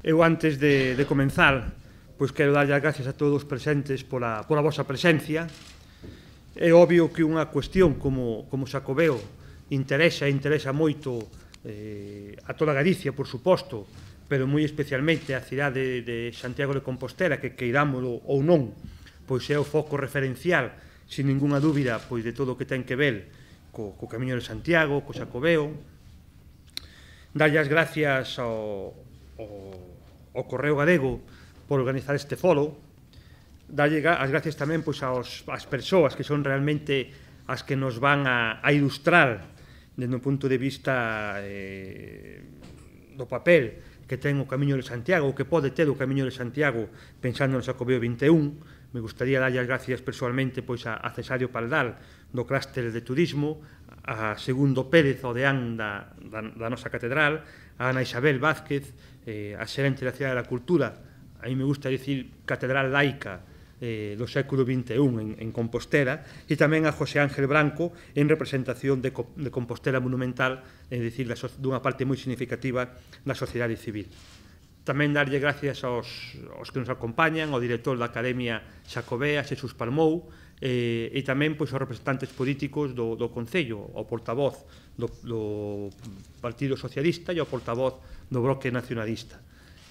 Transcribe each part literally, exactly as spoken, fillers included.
Eu, antes de, de comenzar, pois quero darlle as gracias a todos os presentes pola, pola vosa presencia. É obvio que unha cuestión como, como Xacobeo interesa e interesa moito eh, a toda Galicia, por suposto, pero moi especialmente a cidade de Santiago de Compostela, que queirámolo ou non, pois é o foco referencial, sin ninguna dúbida, pois de todo o que ten que ver co, co Camiño de Santiago, co Xacobeo. Darlle as gracias ao, ao, ao Correo Galego por organizar este foro. Darlle as gracias tamén pois, aos, ás persoas que son realmente as que nos van a, a ilustrar desde un punto de vista eh, do papel que ten o Camiño de Santiago, o que pode ter o Camiño de Santiago pensando no Xacobeo vinte e un. Me gustaría darlle as gracias personalmente pois, a, a Cesario Pardal do Clúster de Turismo, a Segundo Pérez, o deán da, da, da nosa catedral, a Ana Isabel Vázquez, eh, a xerente da Cidade da Cultura, a mí me gusta dicir catedral laica eh, do século vinte e un en, en Compostela, e tamén a José Ángel Branco en representación de, de Compostela Monumental, é dicir, da, dunha parte moi significativa da sociedade civil. Tamén darlle gracias aos, aos que nos acompañan, ao director da Academia Xacobea, Xesús Palmou, eh, e tamén pois, aos representantes políticos do, do Concello, ao portavoz do, do Partido Socialista e ao portavoz do Bloque Nacionalista.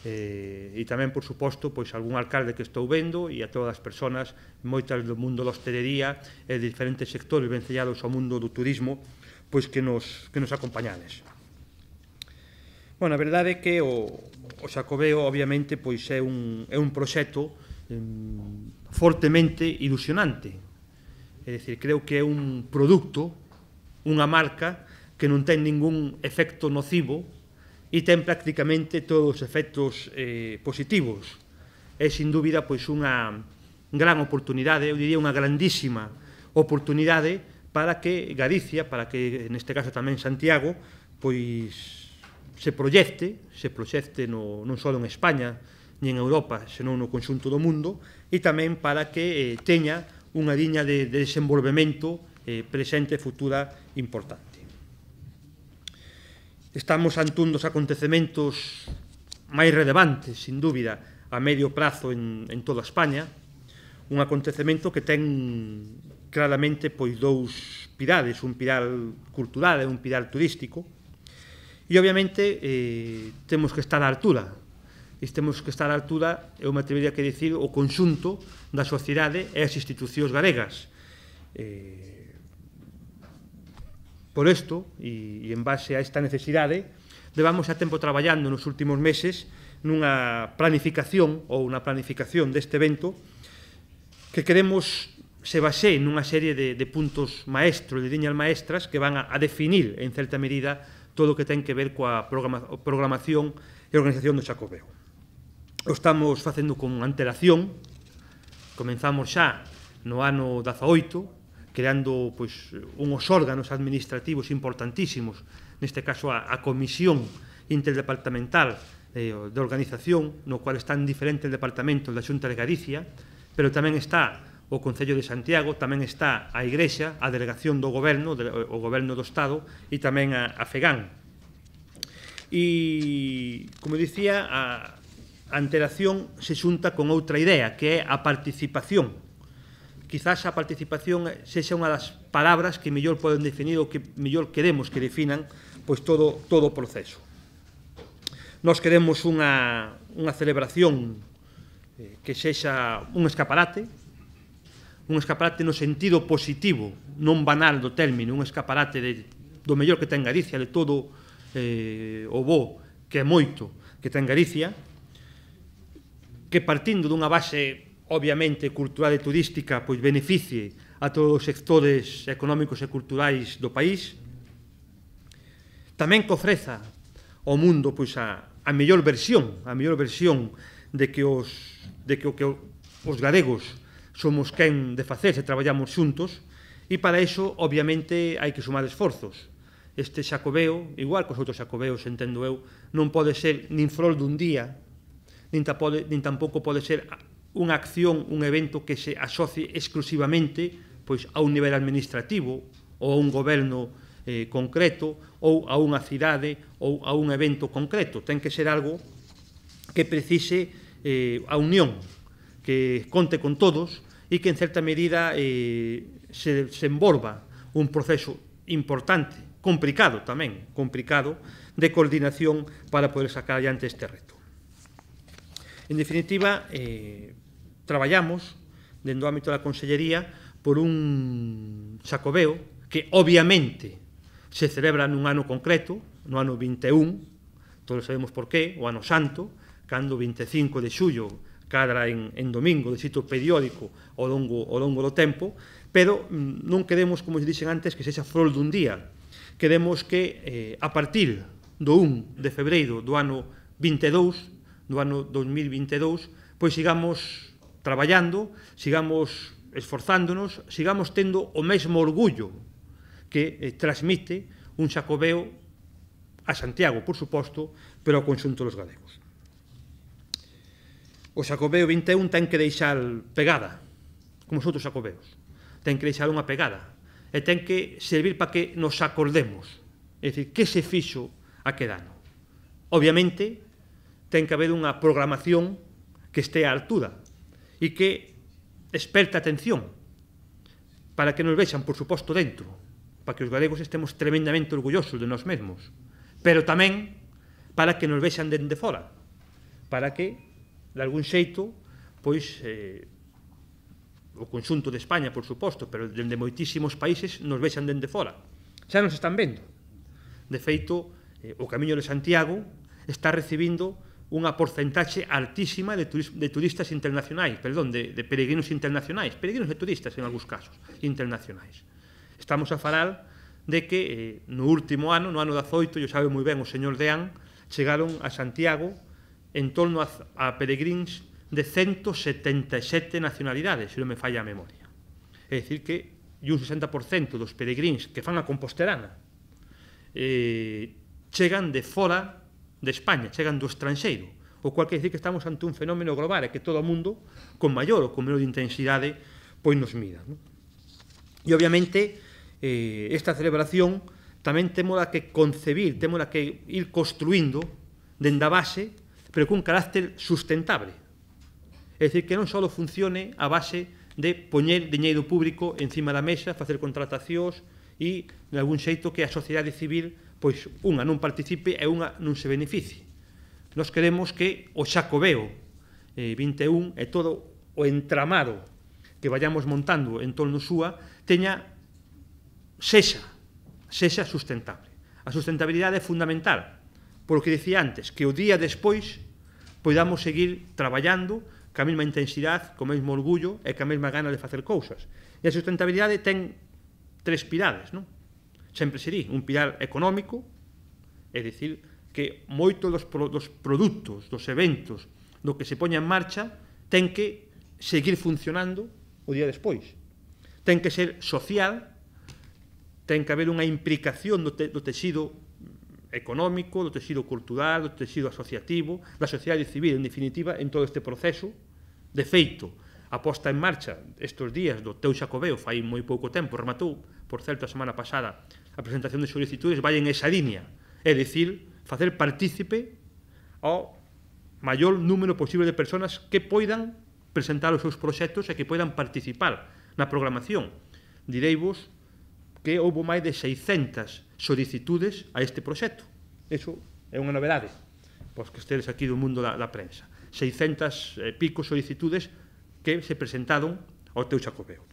Eh, e tamén, por suposto, pois, algún alcalde que estou vendo e a todas as persoas, moitas do mundo da hostelería e de diferentes sectores vencellados ao mundo do turismo, pois que nos, que nos acompañades. Bueno, a verdade é que o, o Xacobeo, obviamente, pois é un, é un proxecto eh, fortemente ilusionante. É dicir, creo que é un produto, unha marca que non ten ningún efecto nocivo e ten prácticamente todos os efectos eh, positivos. É, sin dúbida, pois unha gran oportunidade, eu diría unha grandísima oportunidade para que Galicia, para que, neste caso tamén Santiago, pois se proyecte, se proxecte no, non só en España, ni en Europa, senón no conxunto do mundo, e tamén para que eh, teña unha liña de, de desenvolvemento eh, presente e futura importante. Estamos ante un dos acontecementos máis relevantes, sin dúbida, a medio prazo en, en toda España, un acontecemento que ten claramente pois, dous pilares, un pilar cultural e un pilar turístico, e obviamente eh, temos que estar á altura, e temos que estar á altura, eu me atrevería a dicir, o conxunto da sociedade e as institucións galegas. Eh, Por isto, e en base a esta necesidade, levamos a tempo traballando nos últimos meses nunha planificación ou unha planificación deste evento que queremos se base nunha serie de, de puntos maestros, de liñas maestras que van a, a definir, en certa medida, todo o que ten que ver coa programa, programación e organización do Xacobeo. O estamos facendo con antelación, comenzamos xa no ano dezaoito, creando pois, unhos órganos administrativos importantísimos, neste caso a, a Comisión Interdepartamental eh, de Organización, no cual están diferentes departamentos da Xunta de Galicia, pero tamén está o Concello de Santiago, tamén está a Igrexa, a Delegación do Goberno, o Goberno do Estado, e tamén a, a FEGAN. E, como dicía, a, a antelación se xunta con outra idea, que é a participación. Quizás a participación sexa unha das palabras que mellor poden definir o que mellor queremos que definan pois todo, todo o proceso. Nós queremos unha, unha celebración eh, que sexa un escaparate, un escaparate no sentido positivo, non banal do término, un escaparate de, do mellor que ten Galicia, de todo eh, o bo que é moito que ten Galicia, que partindo dunha base obviamente cultural e turística, pois beneficie a todos os sectores económicos e culturais do país, tamén que ofreza ao mundo pois, a, a mellor versión, a mellor versión de que os, de que, que os galegos somos quen de facer se traballamos xuntos, e para iso, obviamente, hai que sumar esforzos. Este Xacobeo, igual que os outros Xacobeos, entendo eu, non pode ser nin flor dun día, nin, pode, nin tampouco pode ser unha acción, un evento que se asocie exclusivamente pois, a un nivel administrativo ou a un goberno eh, concreto ou a unha cidade ou a un evento concreto. Ten que ser algo que precise eh, a unión, que conte con todos e que en certa medida eh, se, se envolva un proceso importante, complicado tamén, complicado, de coordinación para poder sacar adiante este reto. En definitiva, eh, traballamos dentro do ámbito da Consellería por un Xacobeo que obviamente se celebra nun ano concreto, no ano vinte e un, todos sabemos por qué, o ano santo, cando o vinte e cinco de xullo cadra en, en domingo, de xito periódico ao longo, ao longo do tempo, pero mm, non queremos, como se dixen antes, que sexa flor dun día. Queremos que, eh, a partir do un de febreiro do ano vinte e dous, do ano dos mil vinte e dous, pois sigamos traballando, sigamos esforzándonos, sigamos tendo o mesmo orgullo que eh, transmite un Xacobeo a Santiago, por suposto, pero ao conxunto dos galegos. O Xacobeo vinte e un ten que deixar pegada, como os outros Xacobeos. Ten que deixar unha pegada e ten que servir para que nos acordemos. É dicir, que se fixo aquel ano? Obviamente, ten que haber unha programación que este á altura e que esperte atención para que nos vexan, por suposto, dentro, para que os galegos estemos tremendamente orgullosos de nós mesmos, pero tamén para que nos vexan dende fora, para que de algún xeito, pois, eh, o conxunto de España, por suposto, pero dende moitísimos países nos vexan dende fora. Xa nos están vendo. De feito, eh, o Camiño de Santiago está recibindo unha porcentaxe altísima de, turis de turistas internacionais, perdón, de, de peregrinos internacionais, peregrinos e turistas en algúns casos, internacionais. Estamos a falar de que eh, no último ano, no ano dezaoito, yo sabe moi ben o señor Deán, chegaron a Santiago en torno a, a peregrins de ciento setenta e sete nacionalidades, se non me falla a memoria. É dicir que un sesenta por cento dos peregrins que fan a Compostelana eh, chegan de fora de España, chegan do estranxeiro, o cual quer dicir que estamos ante un fenómeno global e que todo o mundo, con maior ou con menor intensidade, pois nos mira. Non? E, obviamente, eh, esta celebración tamén temos que concebir, temos que ir construindo dende a base, pero cun carácter sustentable. É dicir, que non só funcione a base de poñer diñeiro público encima da mesa, facer contratacións e, de algún xeito, que a sociedade civil, pois, unha non participe e unha non se beneficie. Nós queremos que o Xacobeo eh, vinte e un e todo o entramado que vayamos montando en torno súa teña sexa, sexa sustentable. A sustentabilidade é fundamental, por o que dicía antes, que o día despois podamos seguir traballando ca mesma intensidade, co mesmo orgullo e ca mesma gana de facer cousas. E a sustentabilidade ten tres pilares, non? Sempre sería un pilar económico, é dicir, que moitos dos, pro, dos produtos, dos eventos, do que se poña en marcha, ten que seguir funcionando o día despois. Ten que ser social, ten que haber unha implicación do, te, do texido económico, do texido cultural, do texido asociativo, da sociedade civil, en definitiva, en todo este proceso. De feito, a posta en marcha estes días do teu Xacobeo, fai moi pouco tempo, rematou, por certo, a semana pasada, a presentación de solicitudes, vai en esa línea, é dicir, facer partícipe ao maior número posible de persoas que poidan presentar os seus proxectos e que poidan participar na programación. Direivos que houve máis de seiscentas solicitudes a este proxecto. Eso é unha novedade, pois que estedes aquí do mundo da, da prensa. seiscentas e pico solicitudes que se presentaron ao teu Xacobeo.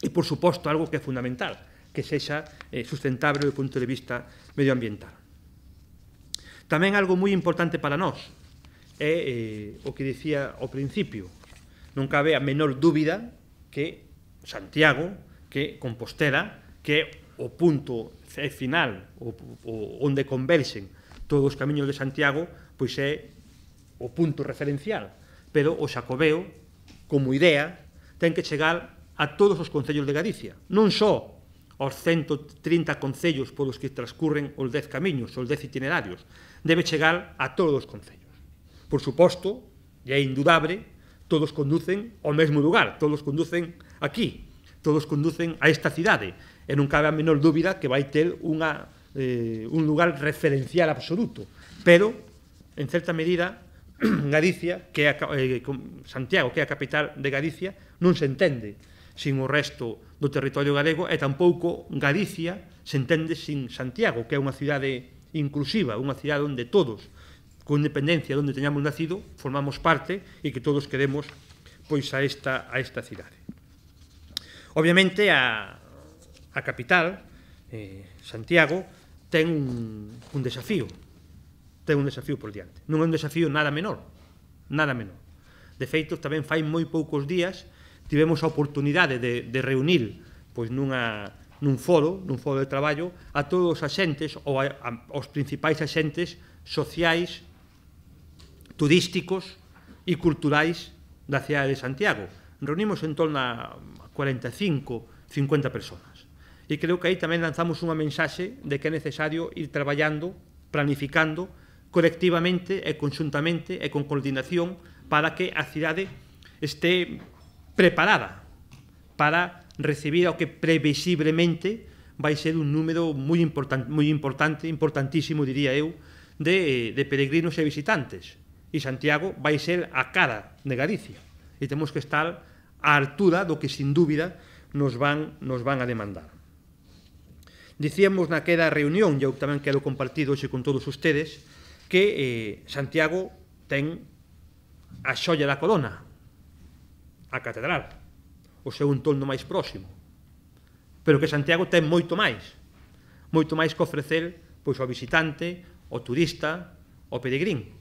E, por suposto, algo que é fundamental, que sexa eh, sustentable do punto de vista medioambiental. Tamén algo moi importante para nós é eh, o que dicía ao principio. Non cabe a menor dúbida que Santiago, que Compostela, que o punto final, o, o, onde converxen todos os camiños de Santiago, pois é o punto referencial. Pero o Xacobeo, como idea, ten que chegar a todos os concellos de Galicia. Non só aos ciento trinta concellos polos que transcurren os dez camiños, os dez itinerarios. Debe chegar a todos os concellos. Por suposto, e é indudable, todos conducen ao mesmo lugar, todos conducen aquí, todos conducen a esta cidade, e non cabe a menor dúbida que vai ter unha, eh, un lugar referencial absoluto, pero, en certa medida, Galicia, que é a, eh, Santiago, que é a capital de Galicia, non se entende sin o resto do territorio galego, e tampouco Galicia se entende sin Santiago, que é unha cidade inclusiva, unha cidade onde todos, con independencia de onde teñamos nacido, formamos parte e que todos queremos pois a esta, a esta cidade. Obviamente, a, a capital, eh, Santiago, ten un, un desafío, ten un desafío por diante. Non é un desafío nada menor, nada menor. De feito, tamén fai moi poucos días tivemos a oportunidade de, de reunir pois, nunha, nun foro, nun foro de traballo, a todos os axentes, ou a, a, os principais axentes sociais, turísticos e culturais da cidade de Santiago. Reunimos en torno a cuarenta e cinco, cincuenta personas. E creo que aí tamén lanzamos unha mensaxe de que é necesario ir traballando, planificando, colectivamente e conxuntamente e con coordinación para que a cidade este preparada para recibir o que previsiblemente vai ser un número moi importante, moi importante, importantísimo, diría eu, de, de peregrinos e visitantes. E Santiago vai ser a cara de Galicia. E temos que estar á altura do que, sin dúbida, nos van, nos van a demandar. Dicíamos naquela reunión, e eu tamén quero compartir hoxe con todos ustedes, que eh, Santiago ten a xoia da corona, a catedral, o seu entorno máis próximo, pero que Santiago ten moito máis, moito máis que ofrecer pois, ao visitante, ao turista, ao peregrín.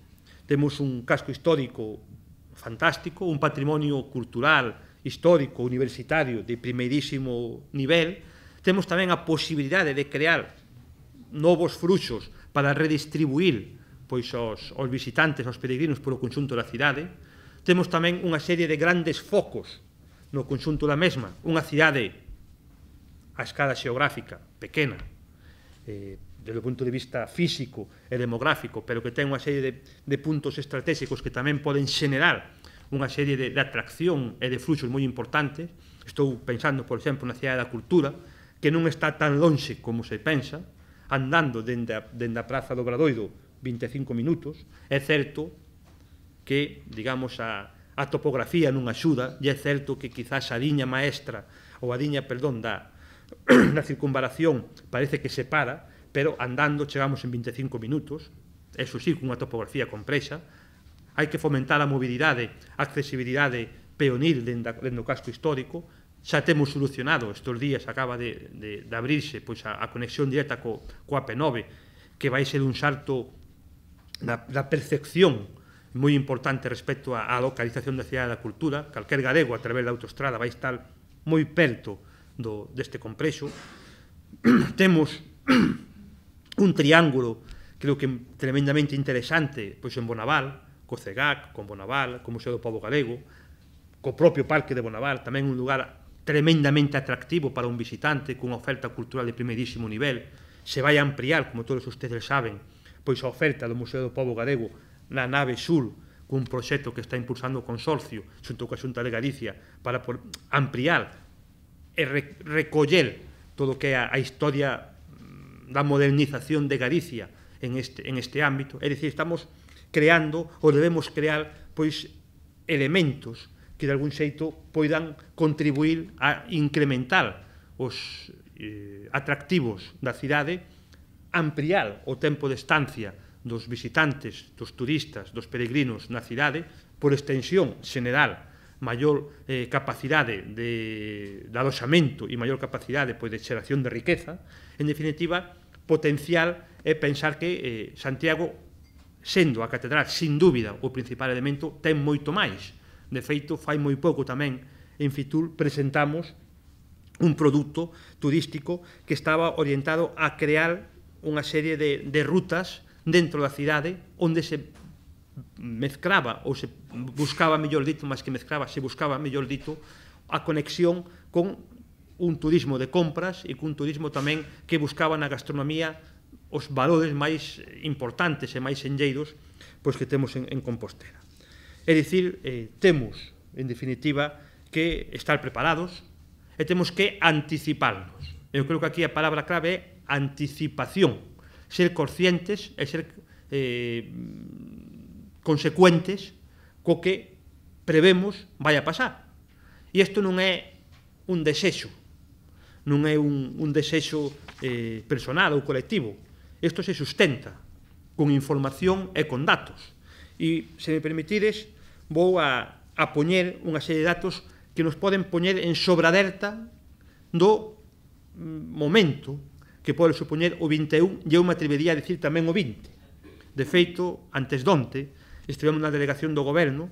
Temos un casco histórico fantástico, un patrimonio cultural, histórico, universitario de primeirísimo nivel. Temos tamén a posibilidade de crear novos fruxos para redistribuir pois, os, os visitantes, os peregrinos polo conxunto da cidade. Temos tamén unha serie de grandes focos no conxunto da mesma, unha cidade a escala xeográfica pequena, eh, desde o punto de vista físico e demográfico, pero que ten unha serie de, de puntos estratégicos que tamén poden xenerar unha serie de, de atracción e de fluxos moi importantes. Estou pensando, por exemplo, na cidade da cultura, que non está tan lonxe como se pensa, andando dende a, dende a Praza do Obradoiro vinte e cinco minutos. É certo que, digamos, a, a topografía non axuda, e é certo que quizás a liña maestra, ou a liña, perdón, da, da circunvalación parece que se para, pero andando chegamos en vinte e cinco minutos, eso sí, cunha topografía complexa. Hai que fomentar a mobilidade, a accesibilidade peonil dentro do casco histórico. Xa temos solucionado, estes días acaba de, de, de abrirse pois, a, a conexión directa co, coa P nove, que vai ser un salto da, da percepción moi importante respecto á localización da cidade da cultura. Calquer galego a través da autoestrada vai estar moi perto do, deste complexo. Temos un triángulo, creo que tremendamente interesante, pois en Bonaval, co CEGAC, con Bonaval, co Museo do Pobo Galego, co propio Parque de Bonaval, tamén un lugar tremendamente atractivo para un visitante, cunha oferta cultural de primeirísimo nivel. Se vai a ampliar, como todos ustedes saben, pois a oferta do Museo do Pobo Galego na nave sur, cun proxecto que está impulsando o Consorcio, xunto coa Xunta de Galicia, para ampliar e recoller todo o que é a historia da modernización de Galicia en este, en este ámbito. É dicir, estamos creando, ou debemos crear, pois, elementos que de algún xeito poidan contribuir a incrementar os eh, atractivos da cidade, ampliar o tempo de estancia dos visitantes, dos turistas, dos peregrinos na cidade, por extensión general, maior eh, capacidade de, de aloxamento e maior capacidade pois, de xeración de riqueza. En definitiva, potencial é pensar que eh, Santiago, sendo a catedral, sin dúbida, o principal elemento, ten moito máis. De feito, fai moi pouco tamén, en Fitur, presentamos un produto turístico que estaba orientado a crear unha serie de, de rutas dentro da cidade onde se mezclaba, ou se buscaba, mellor dito, máis que mezclaba, se buscaba, mellor dito, a conexión con un turismo de compras e cun turismo tamén que buscaba na gastronomía os valores máis importantes e máis enlleiros pois, que temos en, en Compostela. É dicir, eh, temos, en definitiva, que estar preparados e temos que anticiparnos. Eu creo que aquí a palabra clave é anticipación, ser conscientes e ser eh, consecuentes co que prevemos vai a pasar. E isto non é un desexo, non é un, un desexo eh, personal ou colectivo. Isto se sustenta con información e con datos. E, se me permitides, vou a, a poñer unha serie de datos que nos poden poñer en sobraderta do momento que pode supoñer o vinte e un, e eu me atrevería a decir tamén o vinte. De feito, antes donte, estivemos na delegación do goberno,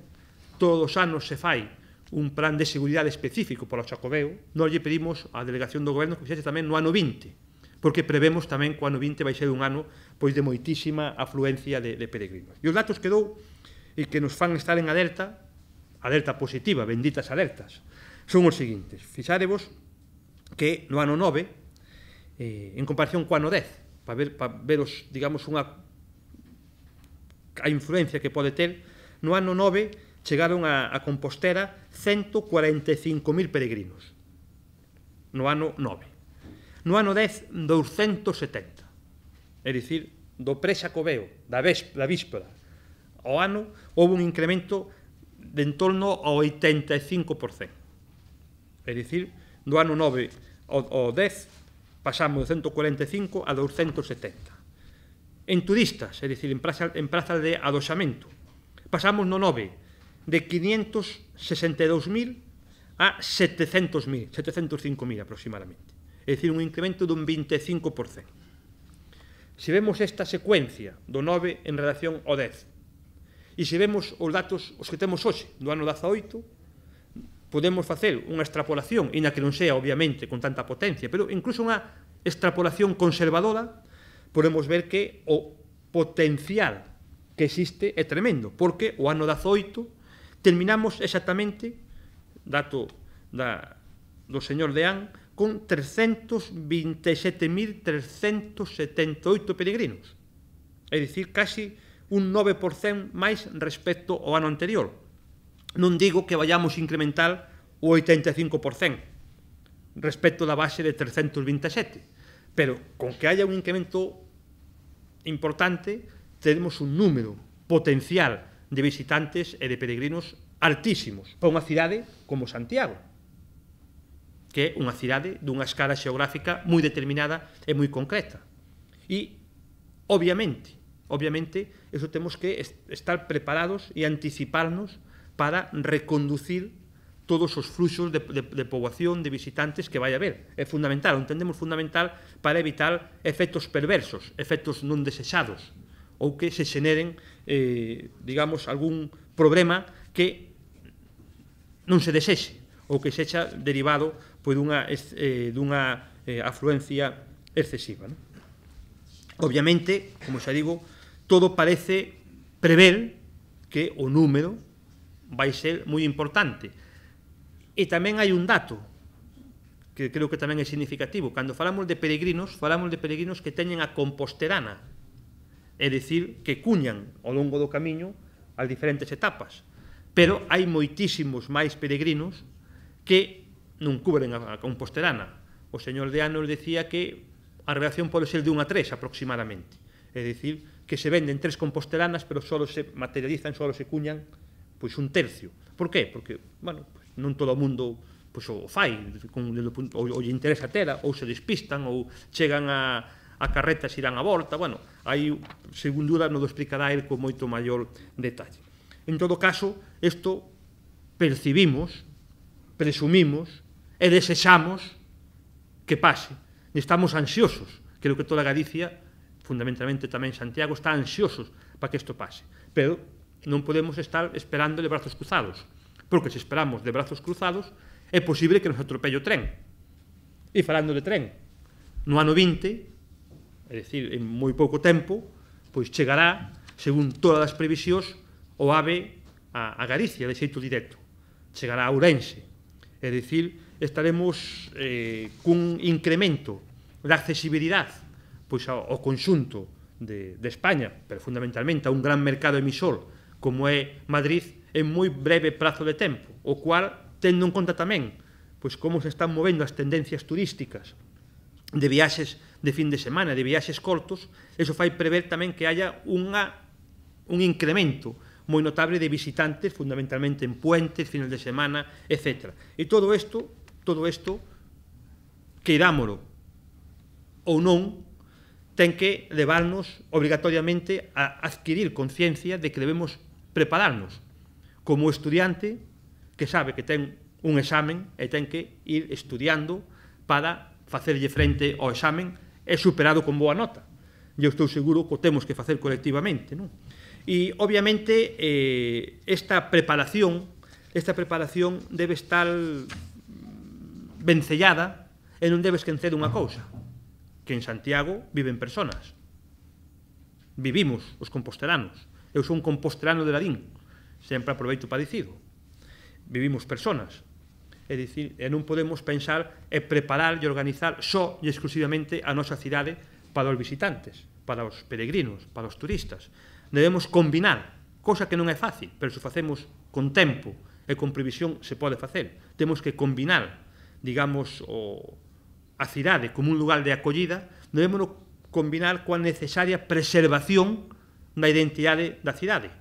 todos os anos se fai un plan de seguridade específico para o Xacobeo, nós lle pedimos á delegación do goberno que fixese tamén no ano vinte, porque prevemos tamén que o ano vinte vai ser un ano pois de moitísima afluencia de, de peregrinos. E os datos que dou e que nos fan estar en alerta, alerta positiva, benditas alertas, son os seguintes. Fixárevos que no ano nove, eh, en comparación co ano dez, para ver, para veros, digamos, unha a influencia que pode ter, no ano nove chegaron a, a Compostela ciento cuarenta e cinco mil peregrinos. No ano nove. No ano dez, doscientos setenta. É dicir, do pre-Xacobeo, da, da víspera ao ano, houve un incremento de en torno ao oitenta e cinco por cento. É dicir, do ano nove ao, ao dez, pasamos de ciento cuarenta e cinco a doscientos setenta. En turistas, é dicir, en prazas en praza de adosamento, pasamos no nove de quinientos sesenta e dous mil a setecentos mil, setecentos cinco mil aproximadamente. É dicir, un incremento dun vinte e cinco por cento. Se vemos esta secuencia do nove en relación ao dez, e se vemos os datos os que temos hoxe, do ano dezaoito, podemos facer unha extrapolación, e na que non sea, obviamente, con tanta potencia, pero incluso unha extrapolación conservadora, podemos ver que o potencial que existe é tremendo, porque o ano dezaoito terminamos exactamente, dato da, do señor Deán, con trescentos vinte e sete mil trescentos setenta e oito peregrinos. É dicir, casi un nove por cento máis respecto ao ano anterior. Non digo que vayamos a incrementar o oitenta e cinco por cento respecto da base de trescentos vinte e sete, pero con que haya un incremento importante, tenemos un número potencial de visitantes e de peregrinos altísimos para unha cidade como Santiago, que é unha cidade dunha escala xeográfica moi determinada e moi concreta. E, obviamente, obviamente, eso temos que estar preparados e anticiparnos para reconducir todos os fluxos de, de, de poboación, de visitantes que vai haber. É fundamental, o entendemos fundamental para evitar efectos perversos, efectos non desexados, ou que se xeneren, eh, digamos, algún problema que non se desexe, ou que sexa derivado pois, dunha, eh, dunha eh, afluencia excesiva. Non? Obviamente, como xa digo, todo parece prever que o número vai ser moi importante. E tamén hai un dato que creo que tamén é significativo. Cando falamos de peregrinos, falamos de peregrinos que teñen a composterana, é dicir, que cuñan ao longo do camiño as diferentes etapas. Pero hai moitísimos máis peregrinos que non cubren a composterana. O señor Deán nos decía que a relación pode ser de un a tres aproximadamente. É dicir, que se venden tres compostelanas, pero só se materializan, só se cuñan pois un tercio. Por qué? Porque, bueno, pues, non todo o mundo pois, o fai, con, ou, ou lle interesa tela, ou se despistan, ou chegan a, a carretas irán a volta, bueno, aí, según duda, nos explicará el con moito maior detalle. En todo caso, isto percibimos, presumimos e desexamos que pase. Estamos ansiosos, creo que toda Galicia, fundamentalmente tamén Santiago, está ansiosos para que isto pase. Pero non podemos estar esperando de brazos cruzados, porque se esperamos de brazos cruzados é posible que nos atropelle o tren. E falando de tren, no ano vinte, é dicir, en moi pouco tempo, pois chegará, según todas as previsións, o AVE a, a Galicia, de xeito directo. Chegará a Ourense. É dicir, estaremos eh, cun incremento da accesibilidade pois, ao, ao conxunto de, de España, pero fundamentalmente a un gran mercado emisor como é Madrid, en moi breve prazo de tempo, o cual, tendo en conta tamén pois, como se están movendo as tendencias turísticas de viaxes de fin de semana, de viaxes cortos, eso fai prever tamén que haya unha, un incremento, moi notable de visitantes, fundamentalmente en puentes, fines de semana, etcétera. E todo isto, todo isto, queirámolo ou non, ten que levarnos obrigatoriamente a adquirir conciencia de que debemos prepararnos como estudiante que sabe que ten un examen e ten que ir estudiando para facerlle frente ao examen e superado con boa nota. Eu estou seguro que o temos que facer colectivamente, non? E, obviamente, eh, esta preparación, esta preparación debe estar vencellada e non debe esquecer unha cousa, que en Santiago viven personas. Vivimos os compostelanos. Eu sou un compostelano de Ladín, sempre aproveito para dicido. Vivimos personas. É dicir, e non podemos pensar e preparar e organizar só e exclusivamente a nosa cidade para os visitantes, para os peregrinos, para os turistas. Debemos combinar, cosa que non é fácil, pero se facemos con tempo e con previsión se pode facer. Temos que combinar, digamos, o, a cidade como un lugar de acollida, debemos combinar coa necesaria preservación da identidade da cidade,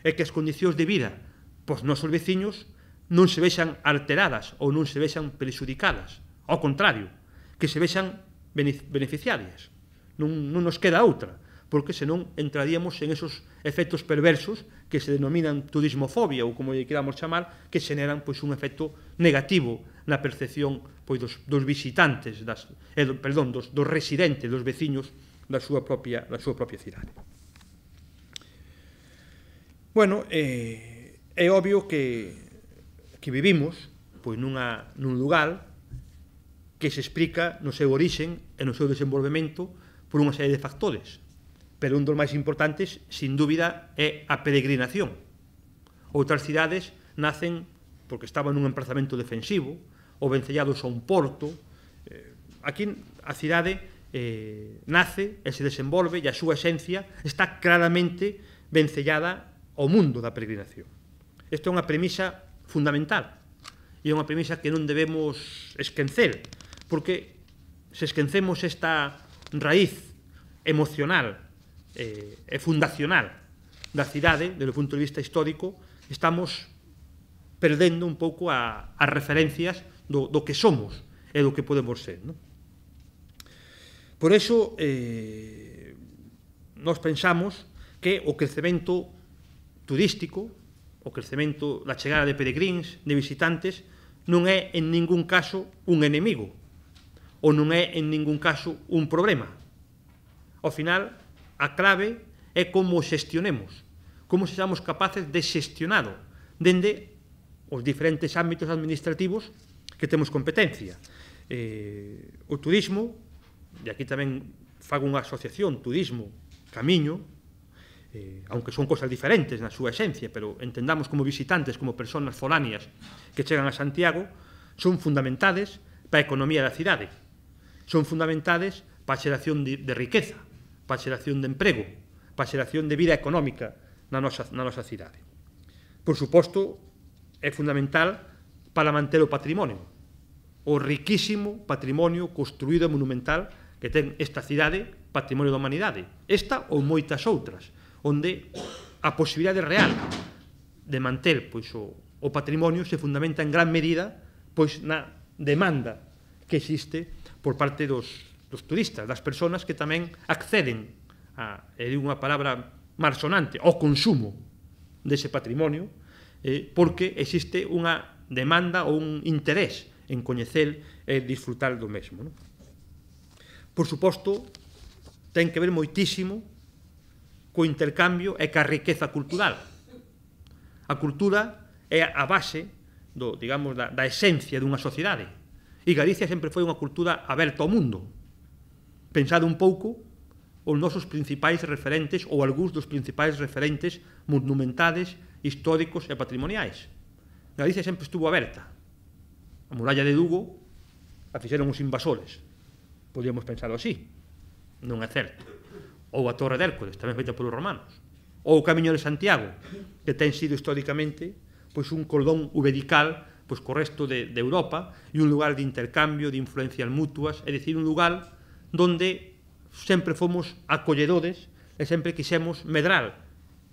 e que as condicións de vida pos nosos veciños non se vexan alteradas ou non se vexan perxudicadas, ao contrario, que se vexan beneficiarias. Non, non nos queda outra, porque senón entraríamos en esos efectos perversos que se denominan turismofobia ou como lle queramos chamar, que xeneran pois, un efecto negativo na percepción pois, dos, dos visitantes, das, eh, perdón, dos, dos residentes, dos veciños da súa propia, da súa propia cidade. Bueno, eh, é obvio que, que vivimos pois, nunha, nun lugar que se explica no seu orixen e no seu desenvolvemento por unha serie de factores. Pero un dos máis importantes, sin dúbida, é a peregrinación. Outras cidades nacen porque estaban nun emplazamento defensivo ou vencellados a un porto. Aquí a cidade eh, nace e se desenvolve e a súa esencia está claramente vencellada ao mundo da peregrinación. Esta é unha premisa fundamental e é unha premisa que non debemos esquecer, porque se esquecemos esta raíz emocional e fundacional da cidade, desde o punto de vista histórico, estamos perdendo un pouco a, as referencias do, do que somos e do que podemos ser. Non? Por eso, eh, nós pensamos que o crecemento turístico, o crecemento da chegada de peregrins, de visitantes, non é en ningún caso un enemigo, ou non é en ningún caso un problema. Ao final, a clave é como xestionemos, como sexamos capaces de xestionado dende os diferentes ámbitos administrativos que temos competencia. Eh, o turismo, e aquí tamén fago unha asociación, turismo, camiño, eh, aunque son cosas diferentes na súa esencia, pero entendamos como visitantes, como persoas foráneas que chegan a Santiago, son fundamentales para a economía da cidade, son fundamentales para a xeración de, de riqueza, para a xeración de emprego, para a xeración de vida económica na nosa, na nosa cidade. Por suposto, é fundamental para manter o patrimonio, o riquísimo patrimonio construído e monumental que ten esta cidade, patrimonio da humanidade, esta ou moitas outras, onde a posibilidade real de manter pois, o, o patrimonio se fundamenta en gran medida pois, na demanda que existe por parte dos dos turistas, das persoas que tamén acceden a, é unha palabra malsonante, ao consumo dese patrimonio, eh, porque existe unha demanda ou un interés en coñecer e disfrutar do mesmo. Non? Por suposto, ten que ver moitísimo co intercambio e ca riqueza cultural. A cultura é a base do, digamos, da, da esencia dunha sociedade. E Galicia sempre foi unha cultura aberta ao mundo. Pensado un pouco os nosos principais referentes ou algúns dos principais referentes monumentales, históricos e patrimoniais. Galicia sempre estuvo aberta. A muralla de Lugo a fixeron os invasores. Podíamos pensarlo así. Non é certo. Ou a Torre de Hércules, tamén feita polos romanos. Ou o Camiño de Santiago, que ten sido históricamente pois, un cordón uberical pois, co resto de, de Europa e un lugar de intercambio, de influencias mutuas, é dicir, un lugar donde sempre fomos acolledores e sempre quixemos medrar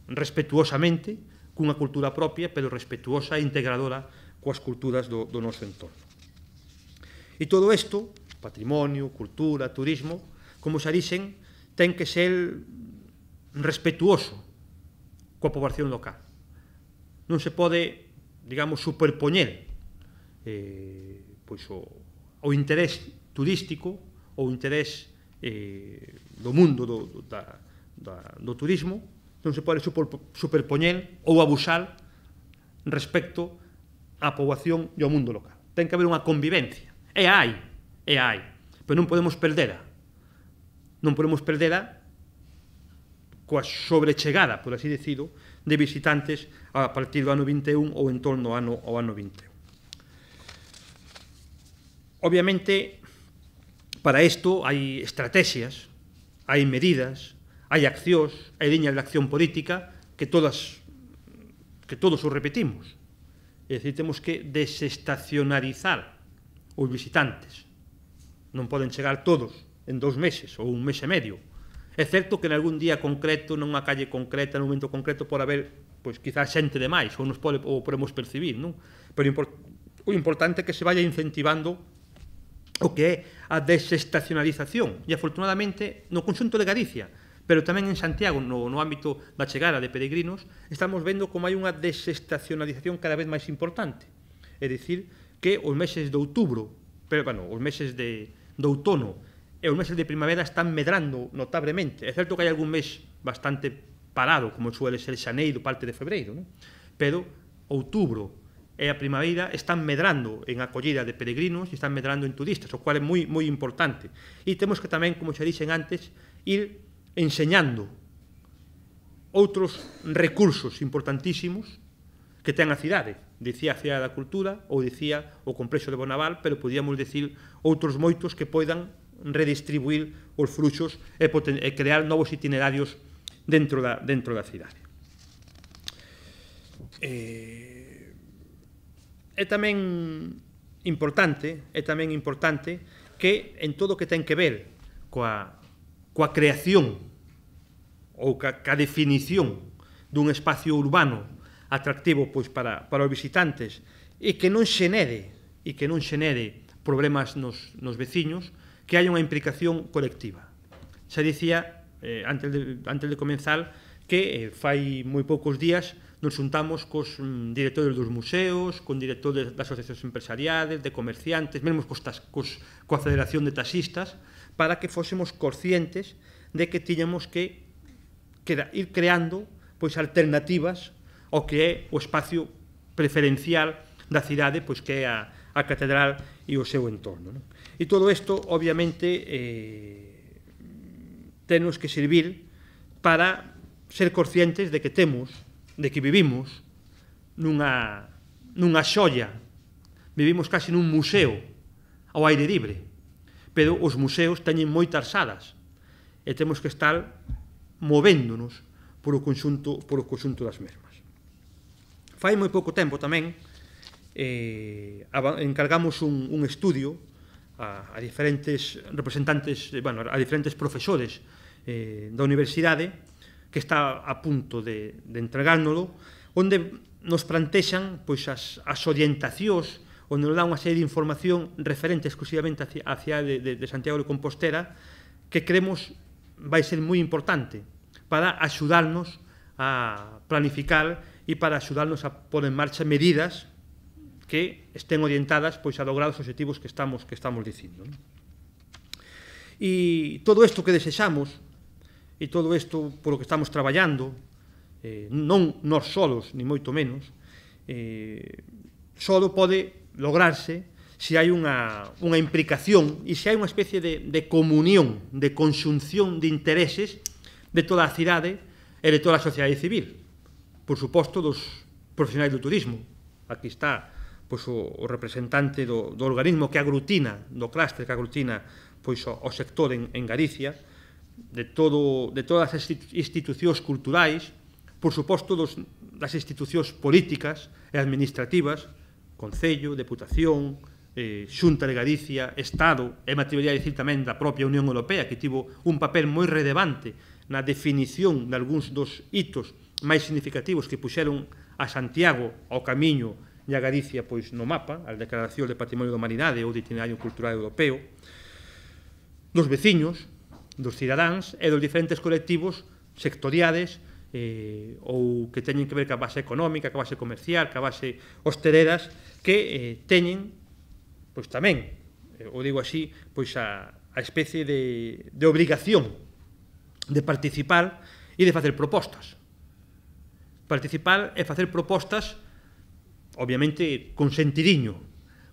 respetuosamente, cunha cultura propia, pero respetuosa e integradora coas culturas do, do noso entorno. E todo isto, patrimonio, cultura, turismo, como xa dixen, ten que ser respetuoso coa poboación local. Non se pode, digamos, superpoñer eh, pois o, o interés turístico ou o interés eh, do mundo do, do, da, da, do turismo, non se pode super, superpoñer ou abusar respecto á poboación e ao mundo local. Ten que haber unha convivencia. E hai, e hai, pero non podemos perdera. Non podemos perdera coa sobrechegada, por así decido, de visitantes a partir do ano vinte e un ou en torno ao ano, ao ano vinte e un. Obviamente, para isto hai estrategias, hai medidas, hai accións, hai liñas de acción política que todas que todos os repetimos. É dicir, temos que desestacionalizar os visitantes. Non poden chegar todos en dous meses ou un mes e medio. É certo que en algún día concreto, nunha calle concreta, nun momento concreto, pode haber, pois, quizás xente de máis, ou nos pode, ou podemos percibir, non? Pero o importante é que se vaya incentivando o que é a desestacionalización. E, afortunadamente, no conxunto de Galicia, pero tamén en Santiago, no, no ámbito da chegada de peregrinos, estamos vendo como hai unha desestacionalización cada vez máis importante. É dicir, que os meses de outubro, pero, bueno, os meses de, de outono e os meses de primavera están medrando notablemente. É certo que hai algún mes bastante parado, como suele ser xaneiro, parte de febreiro, non? Pero outubro e a primavera están medrando en acollida de peregrinos e están medrando en turistas, o cual é moi, moi importante. E temos que tamén, como xa dixen antes, ir enseñando outros recursos importantísimos que ten a cidade. Dicía a Cidade da Cultura ou dicía o Complexo de Bonaval, pero podíamos dicir outros moitos que poidan redistribuir os fluxos e, e crear novos itinerarios dentro da, dentro da cidade. Eh, é tamén importante, é tamén importante que en todo o que ten que ver coa coa creación ou ca, ca definición dun espacio urbano atractivo, pois, para, para os visitantes e que non xenere e que non xenere problemas nos, nos veciños, que haya unha implicación colectiva. Xa dicía, eh, antes, de, antes de comenzar, que eh, fai moi poucos días nos juntamos cos mm, directores dos museos, con directores das asociacións empresariales, de comerciantes, mesmo cos, cos, coa Federación de Taxistas, para que fósemos conscientes de que tiñamos que, que ir creando, pois, alternativas ao que é o espacio preferencial da cidade, pois, que é a, a catedral e o seu entorno, non? E todo isto, obviamente, eh, tenos que servir para ser conscientes de que temos, de que vivimos nunha, nunha xoia, vivimos casi nun museo ao aire libre, pero os museos teñen moitas salas e temos que estar movéndonos por o conxunto, por o conxunto das mesmas. Fai moi pouco tempo tamén eh, encargamos un, un estudio a, a diferentes representantes, bueno, a diferentes profesores eh, da universidade, que está a punto de, de entregárnoslo, onde nos plantexan, pois, as, as orientacións, onde nos dá unha serie de información referente exclusivamente a cidade de, de, de Santiago de Compostela, que creemos vai ser moi importante para axudarnos a planificar e para axudarnos a pôr en marcha medidas que estén orientadas, pois, a lograr os objetivos que estamos, que estamos dicindo, non? E todo isto que desexamos, e todo isto polo que estamos traballando, eh, non nós solos, ni moito menos, eh, solo pode lograrse se hai unha, unha implicación e se hai unha especie de, de comunión, de conxunción de intereses de toda a cidade e de toda a sociedade civil. Por suposto, dos profesionais do turismo. Aquí está, pois, o, o representante do, do organismo que aglutina, do clúster que aglutina, pois, o, o sector en, en Galicia, de, todo, de todas as institucións culturais, por suposto, dos, das institucións políticas e administrativas, Concello, Deputación, eh, Xunta de Galicia, Estado, e me atrevería a dicir tamén da propia Unión Europea, que tivo un papel moi relevante na definición de algúns dos hitos máis significativos que puxeron a Santiago ao camiño e a Galicia pois no mapa, a Declaración de Patrimonio da Humanidade ou de Itinerario Cultural Europeo, dos veciños, dos cidadáns e dos diferentes colectivos sectoriales eh, ou que teñen que ver ca base económica, ca base comercial, ca base hosteleras, que eh, teñen, pois tamén, eh, o digo así, pois a, a especie de, de obrigación de participar e de facer propostas. Participar e facer propostas, obviamente, con sentidiño,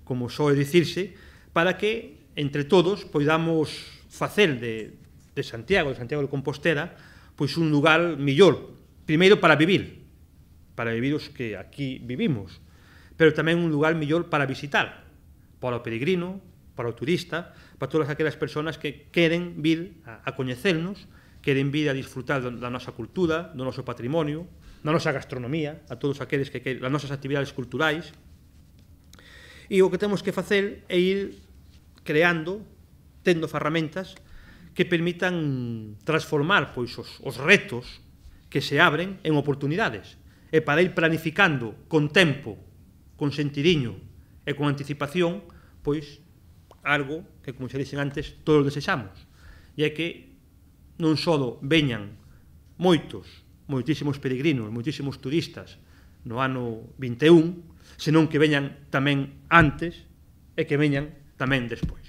como soe dicirse, para que, entre todos, poidamos facer de, de Santiago, de Santiago de Compostela, pois un lugar millor, primeiro para vivir, para vivir os que aquí vivimos, pero tamén un lugar millor para visitar, para o peregrino, para o turista, para todas aquelas persoas que queren vir a, a coñecernos, queren vir a disfrutar da nosa cultura, do noso patrimonio, da nosa gastronomía, a todos aqueles que queren, das nosas actividades culturais. E o que temos que facer é ir creando, tendo ferramentas que permitan transformar pois, os, os retos que se abren en oportunidades. E para ir planificando con tempo, con sentidiño e con anticipación, pois, algo que, como xa dixen antes, todos desexamos. E é que non só veñan moitos, moitísimos peregrinos, moitísimos turistas no ano vinte e un, senón que veñan tamén antes e que veñan tamén despois.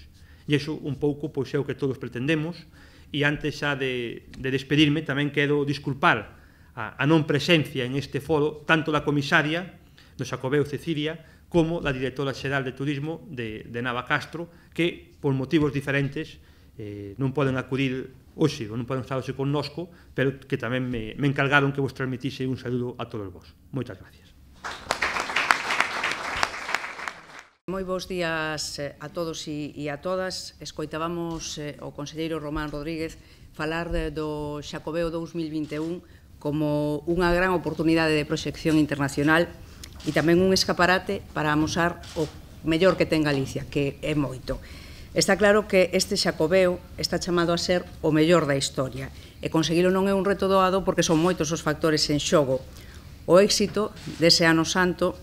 E iso un pouco pois é o que todos pretendemos, e antes xa de, de despedirme tamén quero disculpar a, a non presencia en este foro tanto da comisaria do Xacobeo Cecilia como da directora xeral de Turismo de, de Nava Castro, que por motivos diferentes eh, non poden acudir hoxe, non poden estar hoxe connosco, pero que tamén me, me encargaron que vos transmitise un saludo a todos vos. Moitas gracias. Moi bons días a todos e a todas. Escoitábamos o conselleiro Román Rodríguez falar do Xacobeo dous mil vinte e un como unha gran oportunidade de proxección internacional e tamén un escaparate para amosar o mellor que ten Galicia, que é moito. Está claro que este Xacobeo está chamado a ser o mellor da historia e conseguilo non é un reto doado porque son moitos os factores en xogo. O éxito dese ano santo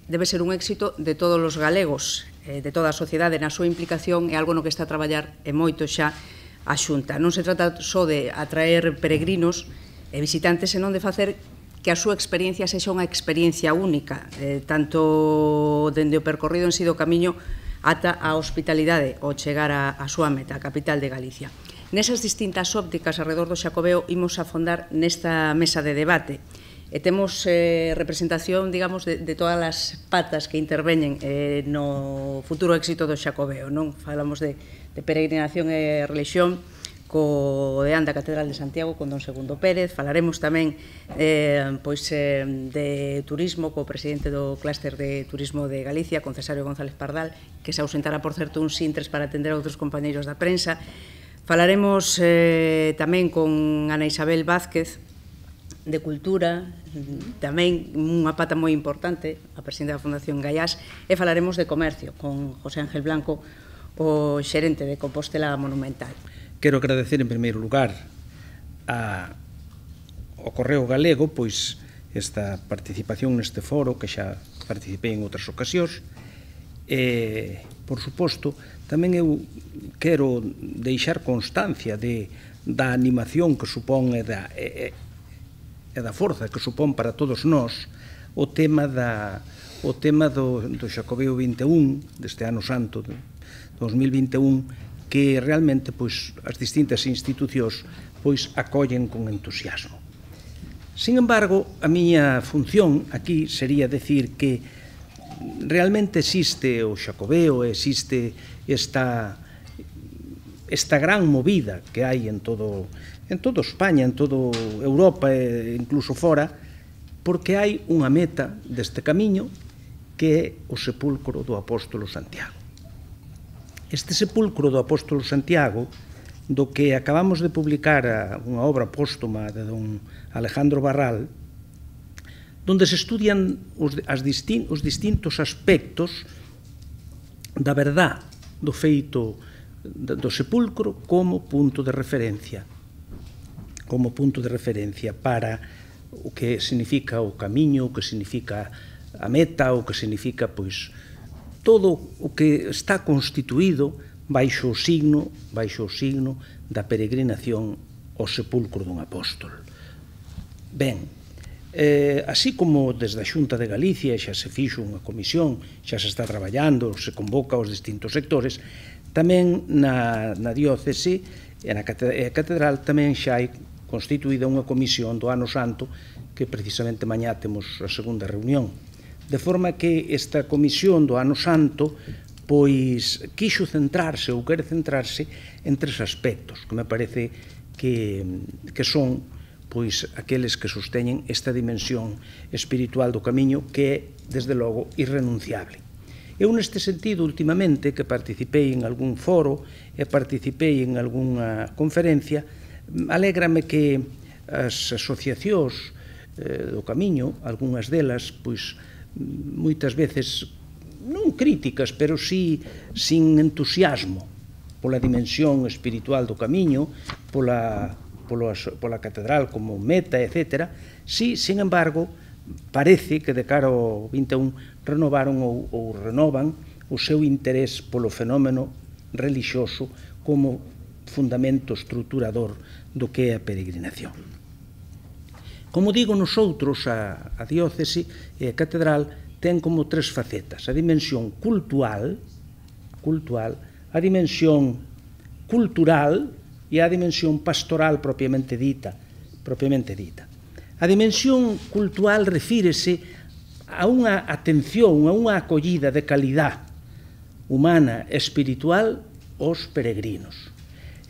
debe ser un éxito de todos os galegos, de toda a sociedade na súa implicación, é algo no que está a traballar e moito xa a Xunta. Non se trata só de atraer peregrinos e visitantes, senón de facer que a súa experiencia sexa unha experiencia única, eh, tanto dende o percorrido en si do camiño ata a hospitalidade ao chegar a, a súa meta, a capital de Galicia. Nesas distintas ópticas alrededor do Xacobeo imos afondar nesta mesa de debate e temos eh, representación, digamos, de, de todas as patas que interveñen eh, no futuro éxito do Xacobeo, non? Falamos de, de peregrinación e religión, co deán da Catedral de Santiago con don Segundo Pérez, falaremos tamén eh, pois, eh, de turismo co presidente do Clúster de Turismo de Galicia, con Cesario González Pardal, que se ausentará, por certo, uns intres para atender a outros compañeiros da prensa. Falaremos eh, tamén con Ana Isabel Vázquez, de Cultura, tamén unha pata moi importante, a presidenta da Fundación Gaiás, e falaremos de Comercio, con José Ángel Blanco, o xerente de Compostela Monumental. Quero agradecer en primeiro lugar a, ao Correo Galego pois esta participación neste foro que xa participei en outras ocasións e, por suposto, tamén eu quero deixar constancia de, da animación que supón e da, e, e da forza que supón para todos nós o tema da o tema do, do Xacobeo vinte e un deste ano santo de dos mil vinte e un, que realmente pois, as distintas institucións pois, acollen con entusiasmo. Sin embargo, a miña función aquí sería decir que realmente existe o Xacobeo, existe esta, esta gran movida que hai en todo, en todo España, en toda Europa e incluso fora, porque hai unha meta deste camiño que é o sepulcro do apóstolo Santiago. Este sepulcro do apóstolo Santiago, do que acabamos de publicar unha obra póstuma de don Alejandro Barral, donde se estudian os, as distin, os distintos aspectos da verdad do feito do sepulcro como punto de referencia, como punto de referencia para o que significa o camiño, o que significa a meta, o que significa, pois, todo o que está constituído baixo o signo, baixo o signo da peregrinación ao sepulcro dun apóstol. Ben, eh, así como desde a Xunta de Galicia xa se fixo unha comisión, xa se está traballando, se convoca aos distintos sectores, tamén na, na diócese e na catedral tamén xa hai constituída unha comisión do Ano Santo que precisamente mañá temos a segunda reunión. De forma que esta comisión do Ano Santo pois quixo centrarse ou quere centrarse en tres aspectos que me parece que, que son pois aqueles que sosteñen esta dimensión espiritual do camiño que é, desde logo, irrenunciable. Eu, neste sentido, últimamente, que participei en algún foro e participei en algunha conferencia, alégrame que as asociacións eh, do camiño, algunhas delas, pois, moitas veces, non críticas, pero sí sin entusiasmo pola dimensión espiritual do camiño, pola, pola, pola catedral como meta, etcétera, sí, sin embargo, parece que de cara ao vinte e un renovaron ou, ou renovan o seu interés polo fenómeno relixioso como fundamento estruturador do que é a peregrinación. Como digo, nosotros, a, a diócese e a catedral ten como tres facetas: a dimensión cultural, cultural, a dimensión cultural e a dimensión pastoral propiamente dita, propiamente dita. A dimensión cultural refírese a unha atención, a unha acollida de calidad humana e espiritual aos peregrinos.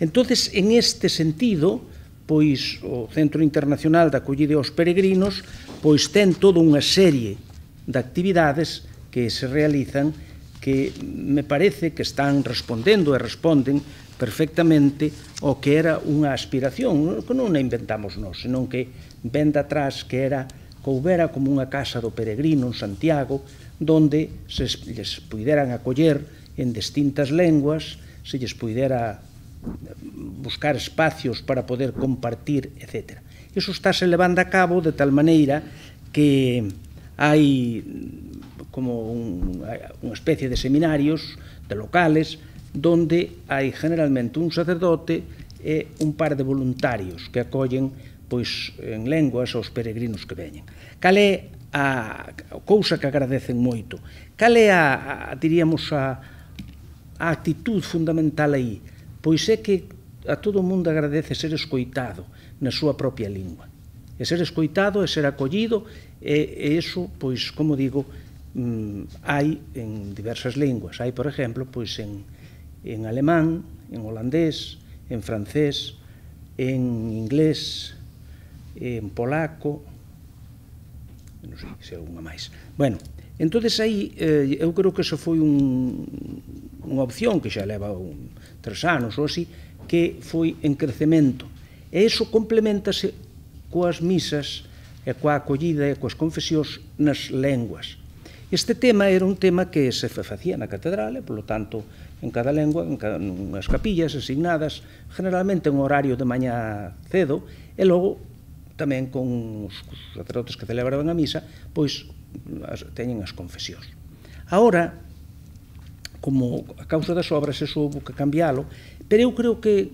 Entonces, en este sentido, pois o Centro Internacional de Acollida aos Peregrinos pois ten toda unha serie de actividades que se realizan que me parece que están respondendo e responden perfectamente ao que era unha aspiración, que non a inventamos nós, senón que ven de atrás que era que houbera como unha casa do peregrino en Santiago, donde se lles puderan acoller en distintas lenguas, se lles pudera buscar espacios para poder compartir, etcétera. Iso estáse levando a cabo de tal maneira que hai como un, unha especie de seminarios, de locales, donde hai generalmente un sacerdote e un par de voluntarios que acollen pois en lenguas aos peregrinos que veñen. Cal é a cousa que agradecen moito? Cal é a, a diríamos, a, a actitud fundamental aí? Pois é que a todo o mundo agradece ser escoitado na súa propia lingua. E ser escoitado, e ser acollido, e, e iso, pois, como digo, mm, hai en diversas linguas. Hai, por exemplo, pois en, en alemán, en holandés, en francés, en inglés, en polaco, non sei se é unha máis. Bueno, entonces aí eh, eu creo que eso foi un, unha opción que xa leva un, tres anos ou así, que foi en crecemento. E iso complementase coas misas e coa acollida e coas confesións nas lenguas. Este tema era un tema que se facía na catedral e, polo tanto, en cada lengua, en cada, unhas capillas asignadas, generalmente en horario de mañá cedo, e logo tamén con os sacerdotes que celebraban a misa, pois as, teñen as confesións. Ahora, como a causa das obras, eso houve que cambiálo, pero eu creo que,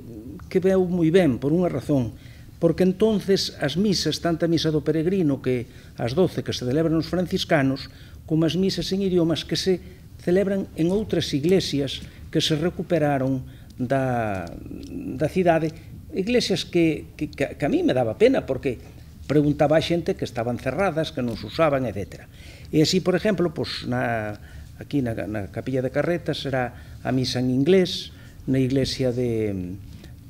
que veu moi ben, por unha razón, porque entonces as misas, tanto a misa do peregrino que as doce que se celebran os franciscanos, como as misas en idiomas que se celebran en outras iglesias que se recuperaron da, da cidade, iglesias que, que, que a mí me daba pena, porque preguntaba a xente que estaban cerradas, que non se usaban, etcétera. E así, por exemplo, pues, na, aquí na, na capilla de Carretas será a misa en inglés, na iglesia de,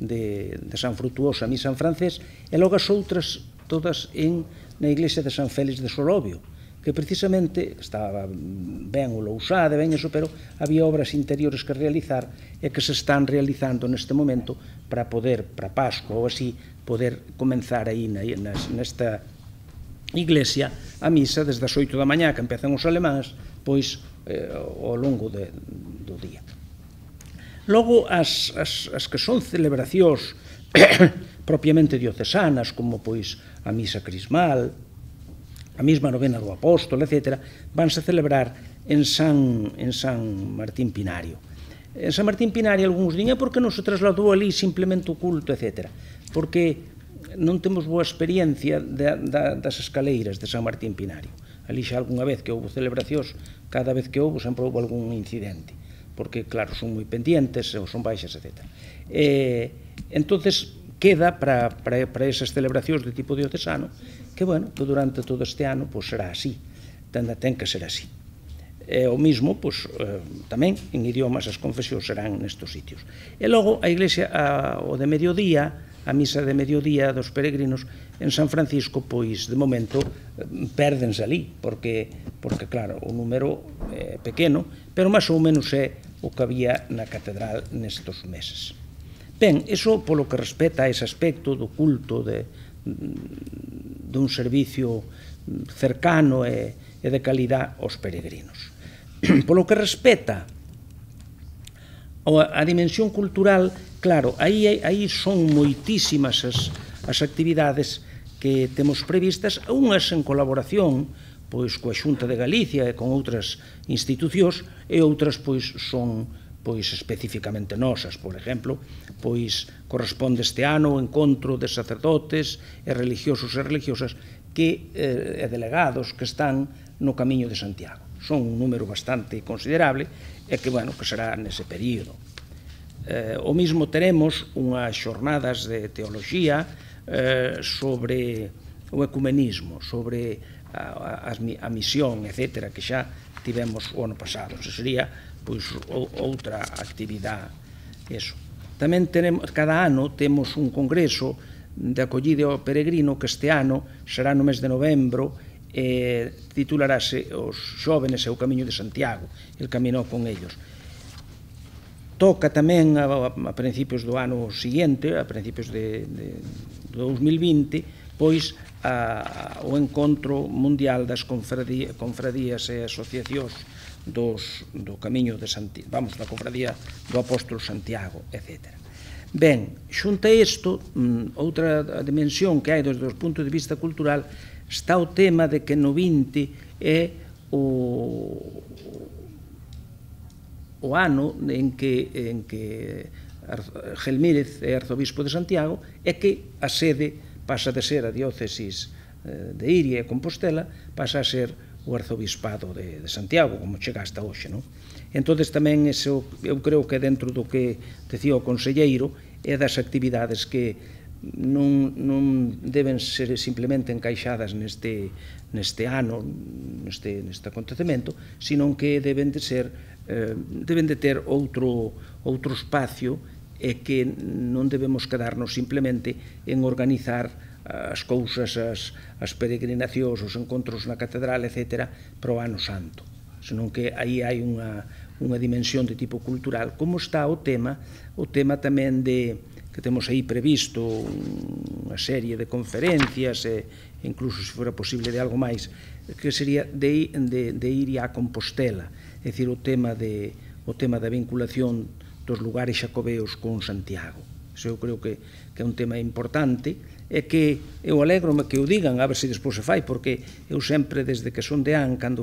de, de San Frutuoso a misa en francés, e logo as outras todas en, na iglesia de San Félix de Solovio, que precisamente estaba ben ulousada, ben eso, pero había obras interiores que realizar e que se están realizando neste momento para poder, para Pascua ou así, poder comenzar aí nesta iglesia a misa desde as oito da mañá que empezan os alemáns, pois eh, ao longo de, do día. Logo, as, as, as que son celebracións propiamente diocesanas, como pois a misa crismal, a mesma novena do apóstolo, etcétera, vanse celebrar en San, en San Martín Pinario. En San Martín Pinario, algúns din, é porque non se trasladou ali simplemente o culto, etcétera. Porque non temos boa experiencia de, de, das escaleiras de San Martín Pinario. Ali xa algunha vez que houve celebracións, cada vez que houve sempre houve algún incidente, porque, claro, son moi pendientes, ou son baixas, etcétera. E, entonces, queda para, para, para esas celebracións de tipo diocesano, que, bueno, que durante todo este ano, pois, será así, ten, ten que ser así. E, o mismo, pois, eh, tamén, en idiomas, as confesións serán nestos sitios. E logo, a Iglesia, a, o de mediodía, a misa de mediodía dos peregrinos en San Francisco, pois, de momento, pérdense ali, porque, porque claro, o número é pequeno, pero máis ou menos é o que había na catedral nestos meses. Ben, iso polo que respecta a ese aspecto do culto, de, dun servicio cercano e, e de calidad aos peregrinos. Polo que respecta a dimensión cultural, claro, aí, aí son moitísimas as, as actividades que temos previstas, unhas en colaboración pois coa Xunta de Galicia e con outras institucións, e outras pois son pois especificamente nosas. Por exemplo, pois corresponde este ano o encontro de sacerdotes e religiosos e religiosas que, eh, e delegados que están no Camiño de Santiago. Son un número bastante considerable e que, bueno, que será nese período. Eh, o mismo teremos unhas xornadas de teoloxía eh, sobre o ecumenismo, sobre a, a, a misión, etcétera, que xa tivemos o ano pasado. Se sería, pois, outra actividade. Eso. Tamén tenemos, cada ano temos un congreso de acollida ao peregrino que este ano será no mes de novembro e titularase Os xóvenes e o Camiño de Santiago, el caminou con ellos. Toca tamén a, a principios do ano seguinte, a principios de, de, de dos mil vinte, pois a, a, o encontro mundial das confradías, confradías e asociacións dos, do Camiño de Santiago, vamos, da confradía do Apóstolo Santiago, etcétera. Ben, xunta isto, outra dimensión que hai desde o punto de vista cultural, está o tema de que no vinte é o, o ano en que, en que Gelmírez é arzobispo de Santiago e que a sede pasa de ser a diócesis de Iria e Compostela, pasa a ser o arzobispado de, de Santiago, como chega hasta hoxe, non? Entón, tamén, eso, eu creo que dentro do que decía o conselleiro, é das actividades que non, non deben ser simplemente encaixadas neste, neste ano, neste, neste acontecemento, sino que deben de ser, eh, deben de ter outro, outro espacio e que non debemos quedarnos simplemente en organizar as cousas, as, as peregrinacións, os encontros na catedral, etcétera, para o ano santo, senón que aí hai unha, unha dimensión de tipo cultural, como está o tema, o tema tamén de, que temos aí previsto unha serie de conferencias, e incluso, se fora posible, de algo máis, que sería de, de, de ir a Compostela, é dicir, o tema, de, o tema da vinculación dos lugares xacobeos con Santiago. Iso eu creo que, que é un tema importante, e que eu alegro-me que o digan, a ver se despois se fai, porque eu sempre, desde que son deán, cando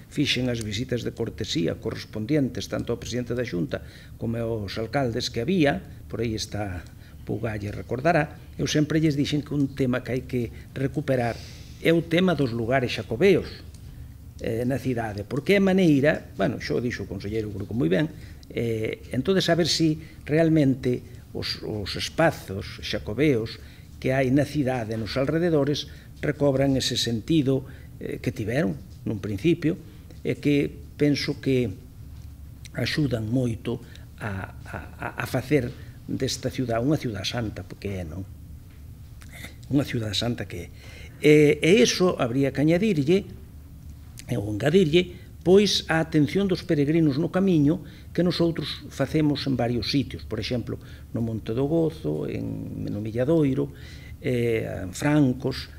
fixen as visitas de cortesía correspondientes tanto ao presidente da Xunta como aos alcaldes que había, por aí está Pugalle recordará, eu sempre lles dixen que un tema que hai que recuperar é o tema dos lugares xacobeos eh, na cidade, porque é maneira, bueno, xo dixo o conselleiro creo que moi ben, eh, entón saber si realmente os, os espazos xacobeos que hai na cidade, nos alrededores, recobran ese sentido eh, que tiveron nun principio, e que penso que axudan moito a, a, a facer desta ciudad unha ciudad santa, porque é, non? Unha ciudad santa que é. E, e iso habría que añadirlle, ou engadirlle, pois a atención dos peregrinos no camiño que nosotros facemos en varios sitios, por exemplo, no Monte do Gozo, en no Milladoiro, eh, en Francos,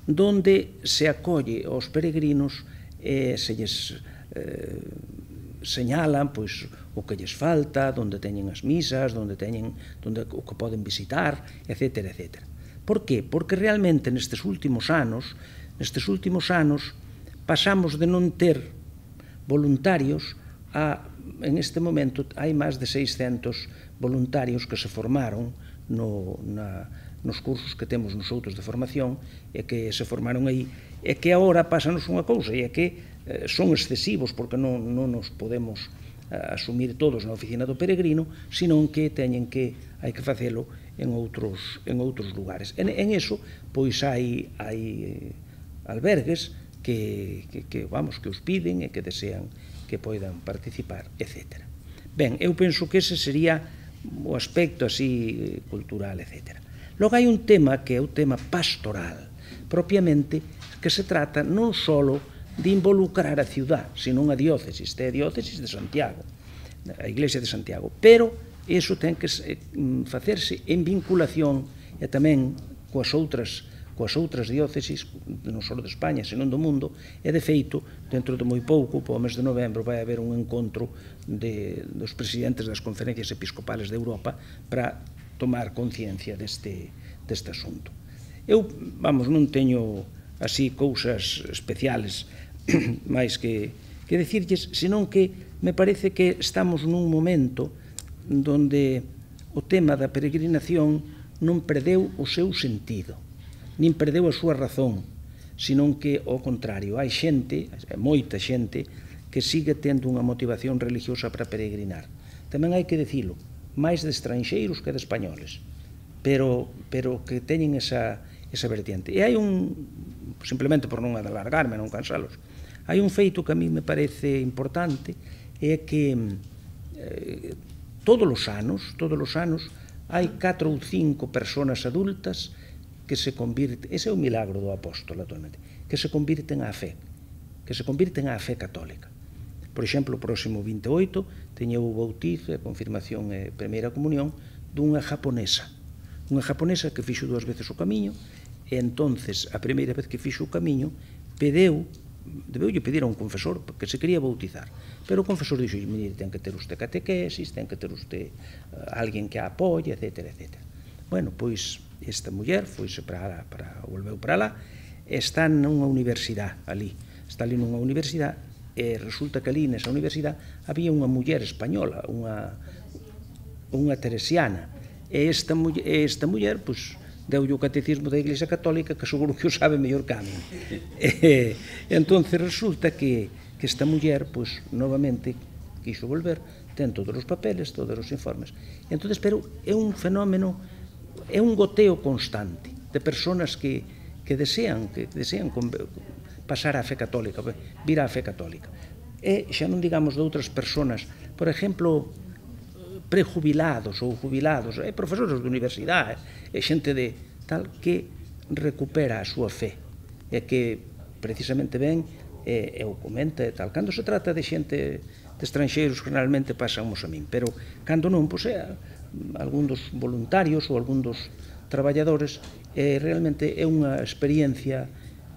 donde se acolle aos peregrinos e se lles eh, señalan pois, o que lles falta, onde teñen as misas, onde teñen onde, o que poden visitar, etcétera, etcétera. Por que? Porque realmente nestes últimos anos, nestes últimos anos, pasamos de non ter voluntarios a, en este momento, hai máis de seiscentos voluntarios que se formaron no, na, nos cursos que temos nos outros de formación e que se formaron aí, e que agora pásanos unha cousa, e é que eh, son excesivos porque non, non nos podemos eh, asumir todos na oficina do peregrino, senón que teñen que, hai que facelo en outros, en outros lugares. En, en eso, pois hai, hai albergues que, que, que, vamos, que os piden e que desean que poidan participar, etcétera. Ben, eu penso que ese sería o aspecto así cultural, etcétera. Logo hai un tema que é o tema pastoral, propiamente, que se trata non só de involucrar a ciudad, senón a diócesis, é a diócesis de Santiago, a Iglesia de Santiago, pero iso ten que facerse en vinculación e tamén coas outras coas outras diócesis, non só de España, senón do mundo, e de feito, dentro de moi pouco, po mes de novembro, vai haber un encontro de, dos presidentes das conferencias episcopales de Europa para tomar conciencia deste, deste asunto. Eu, vamos, non teño así cousas especiales máis que, que decirlles, senón que me parece que estamos nun momento donde o tema da peregrinación non perdeu o seu sentido, nin perdeu a súa razón, senón que, ao contrario, hai xente, moita xente, que sigue tendo unha motivación religiosa para peregrinar. Tamén hai que dicilo, máis de estranxeiros que de españoles, pero, pero que teñen esa, esa vertiente. E hai un, simplemente por non alargarme, non cansalos, hai un feito que a mí me parece importante, é que eh, todos os anos, todos os anos, hai catro ou cinco persoas adultas que se convirten, ese é o milagro do apóstolo, actualmente, que se convirten á fe, que se convirten á fe católica. Por exemplo, o próximo vinte e oito teñeu o bautizo, a confirmación e primeira comunión dunha japonesa, unha japonesa que fixo dúas veces o camiño, e entonces, a primeira vez que fixo o camiño, pedeu, debeulle pedir a un confesor que se quería bautizar, pero o confesor dixo, mire, ten que ter usted catequesis, ten que ter usted uh, alguén que a apoie, etcétera, etcétera. Bueno, pois, esta muller foise para, para, volveu para lá, está nunha universidade ali, está ali nunha universidade, e resulta que ali nesa universidade había unha muller española, unha, unha teresiana, e esta, e esta muller, pois, deulle o catecismo da Iglesia Católica, que seguro que o sabe mellor que a mí. E, entón, resulta que, que esta muller, pois, novamente, quiso volver, ten todos os papeles, todos os informes. Entón, pero é un fenómeno, é un goteo constante de persoas que, que desean, que desean pasar á fe católica, vir á fe católica. E xa non digamos de outras persoas, por exemplo, prejubilados ou jubilados, e profesores de universidade, e xente de tal que recupera a súa fe, e que precisamente ven e, e o comenta e tal. Cando se trata de xente de estranxeiros, generalmente pasamos a min, pero cando non, pois é algún dos voluntarios ou algún dos traballadores, eh, realmente é unha experiencia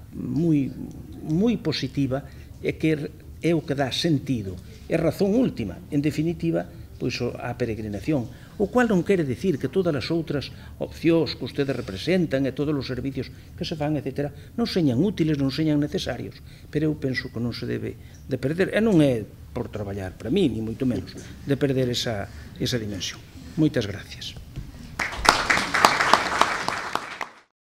moi, moi positiva e que é o que dá sentido, é razón última, en definitiva, pois a peregrinación, o cual non quere dicir que todas as outras opcións que ustedes representan e todos os servicios que se fan, etcétera, non señan útiles, non señan necesarios, pero eu penso que non se debe de perder, e non é por traballar para mí, ni moito menos, de perder esa, esa dimensión. Moitas gracias.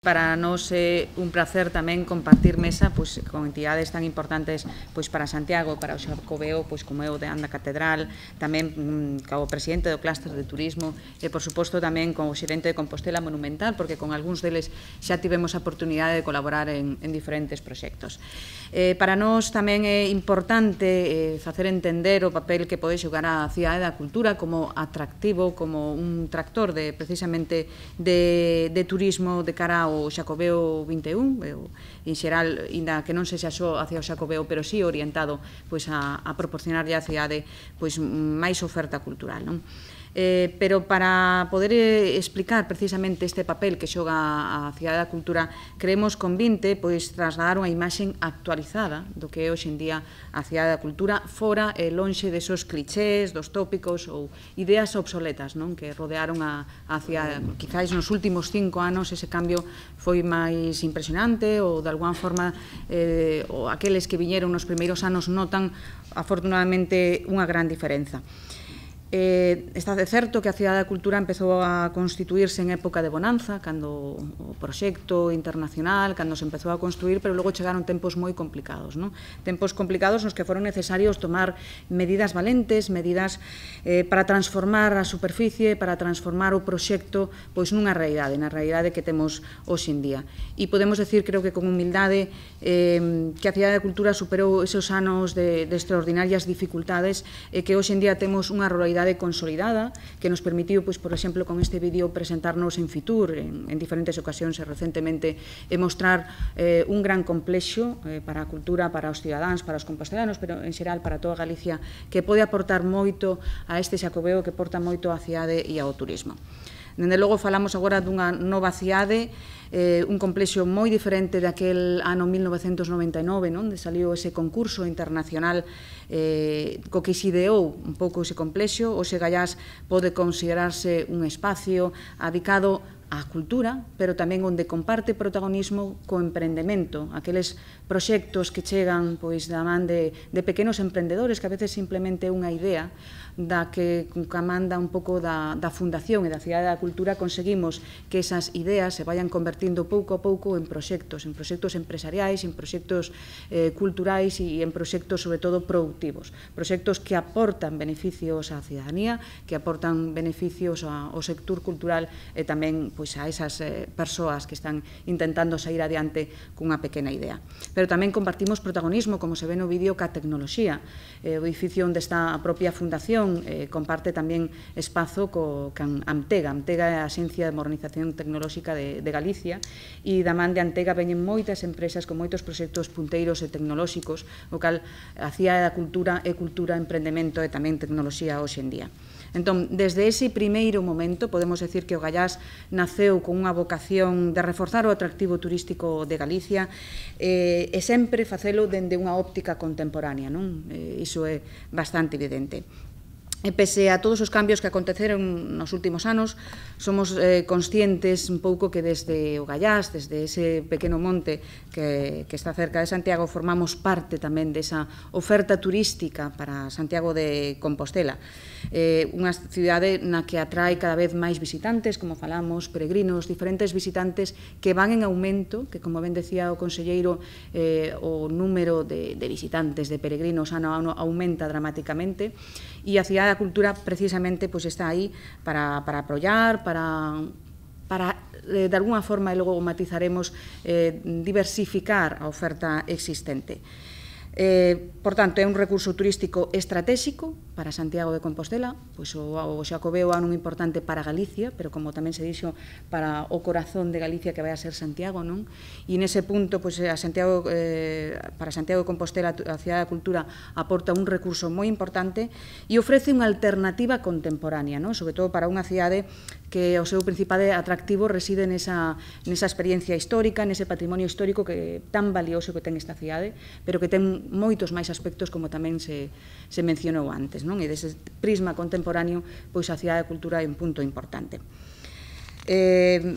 Para nós é un placer tamén compartir mesa pois, con entidades tan importantes pois, para Santiago, para o Xacobeo, pois, como é o de Anda Catedral, tamén mm, co presidente do clúster de turismo e, por suposto, tamén con o xerente de Compostela Monumental, porque con algúns deles xa tivemos a oportunidade de colaborar en, en diferentes proxectos. Eh, para nós tamén é importante eh, facer entender o papel que pode xogar a cidade da cultura como atractivo, como un tractor de, precisamente de, de turismo de cara ao o Xacobeo vinte e un, en xeral, inda que non se xa só hacia o Xacobeo, pero sí orientado pois, a, a proporcionarlle á cidade pois, máis oferta cultural. Non? Eh, pero para poder eh, explicar precisamente este papel que xoga a Cidade da Cultura, creemos convinte pois, trasladar unha imaxe actualizada do que é hoxe en día a Cidade da Cultura, fora e lonxe desos clichés, dos tópicos ou ideas obsoletas, non, que rodearon a, a Cidade. Quizás nos últimos cinco anos ese cambio foi máis impresionante ou de alguna forma eh, ou aqueles que viñeron nos primeiros anos notan afortunadamente unha gran diferenza. Eh, está de certo que a Cidade da Cultura empezou a constituirse en época de bonanza, cando o proxecto internacional, cando se empezou a construir, pero logo chegaron tempos moi complicados, non? Tempos complicados nos que foron necesarios tomar medidas valentes, medidas eh, para transformar a superficie, para transformar o proxecto pois nunha realidade, na realidade que temos hoxe en día. E podemos decir, creo que con humildade, eh, que a Cidade da Cultura superou esos anos de, de extraordinarias dificultades e que hoxe en día temos unha realidade consolidada que nos permitiu, pois, por exemplo, con este vídeo presentarnos en Fitur en, en diferentes ocasións e recentemente e mostrar eh, un gran complexo eh, para a cultura, para os cidadáns, para os compostelanos, pero en xeral para toda Galicia, que pode aportar moito a este Xacobeo, que aporta moito á cidade e ao turismo. Dende logo, falamos agora dunha nova cidade, eh, un complexo moi diferente daquel ano mil novecentos noventa e nove, non? Onde saliu ese concurso internacional eh, co que se ideou un pouco ese complexo. O Segallás pode considerarse un espacio adicado á cultura, pero tamén onde comparte protagonismo co emprendemento, aqueles proxectos que chegan pois da man de, de pequenos emprendedores que a veces simplemente unha idea da que camanda un pouco da, da Fundación e da Cidade da Cultura, conseguimos que esas ideas se vayan convertindo pouco a pouco en proxectos, en proxectos empresariais, en proxectos eh, culturais e en proxectos, sobre todo, productivos. Proxectos que aportan beneficios á cidadanía, que aportan beneficios ao sector cultural e tamén pois, a esas eh, persoas que están intentando sair adiante cunha pequena idea. Pero tamén compartimos protagonismo, como se ve no vídeo, ca tecnoloxía. Eh, o edificio onde está a propia Fundación Eh, comparte tamén espazo co can Amtega. Amtega é a Axencia de Modernización Tecnolóxica de, de Galicia e da man de Amtega veñen moitas empresas con moitos proxectos punteiros e tecnolóxicos, o cal a Cidade da Cultura é cultura, emprendemento e tamén tecnoloxía hoxe en día. Entón, desde ese primeiro momento, podemos decir que o Gallás naceu con unha vocación de reforzar o atractivo turístico de Galicia eh, e sempre facelo dende unha óptica contemporánea, non? Eh, iso é bastante evidente. E pese a todos os cambios que aconteceron nos últimos anos, somos eh, conscientes un pouco que desde o Gallás, desde ese pequeno monte que, que está cerca de Santiago, formamos parte tamén desa oferta turística para Santiago de Compostela. Eh, unha cidade na que atrae cada vez máis visitantes, como falamos, peregrinos, diferentes visitantes que van en aumento, que, como ben decía o conselleiro, eh, o número de, de visitantes, de peregrinos ano a ano aumenta dramáticamente, e a Cidade da Cultura precisamente pois, está aí para, para apoiar, para, para de alguna forma, e logo matizaremos, eh, diversificar a oferta existente. Eh, por tanto, é un recurso turístico estratégico para Santiago de Compostela, pois o, o Xacobeo é un importante para Galicia, pero como tamén se dixo, para o corazón de Galicia que vai a ser Santiago, non? E nese punto, pois, a Santiago, eh, para Santiago de Compostela, a Cidade da Cultura aporta un recurso moi importante e ofrece unha alternativa contemporánea, non? Sobre todo para unha cidade que o seu principal atractivo reside nesa, nesa experiencia histórica, nese patrimonio histórico que tan valioso que ten esta cidade, pero que ten moitos máis aspectos, como tamén se, se mencionou antes, non? E dese prisma contemporáneo, pois a Cidade da Cultura é un punto importante. Eh,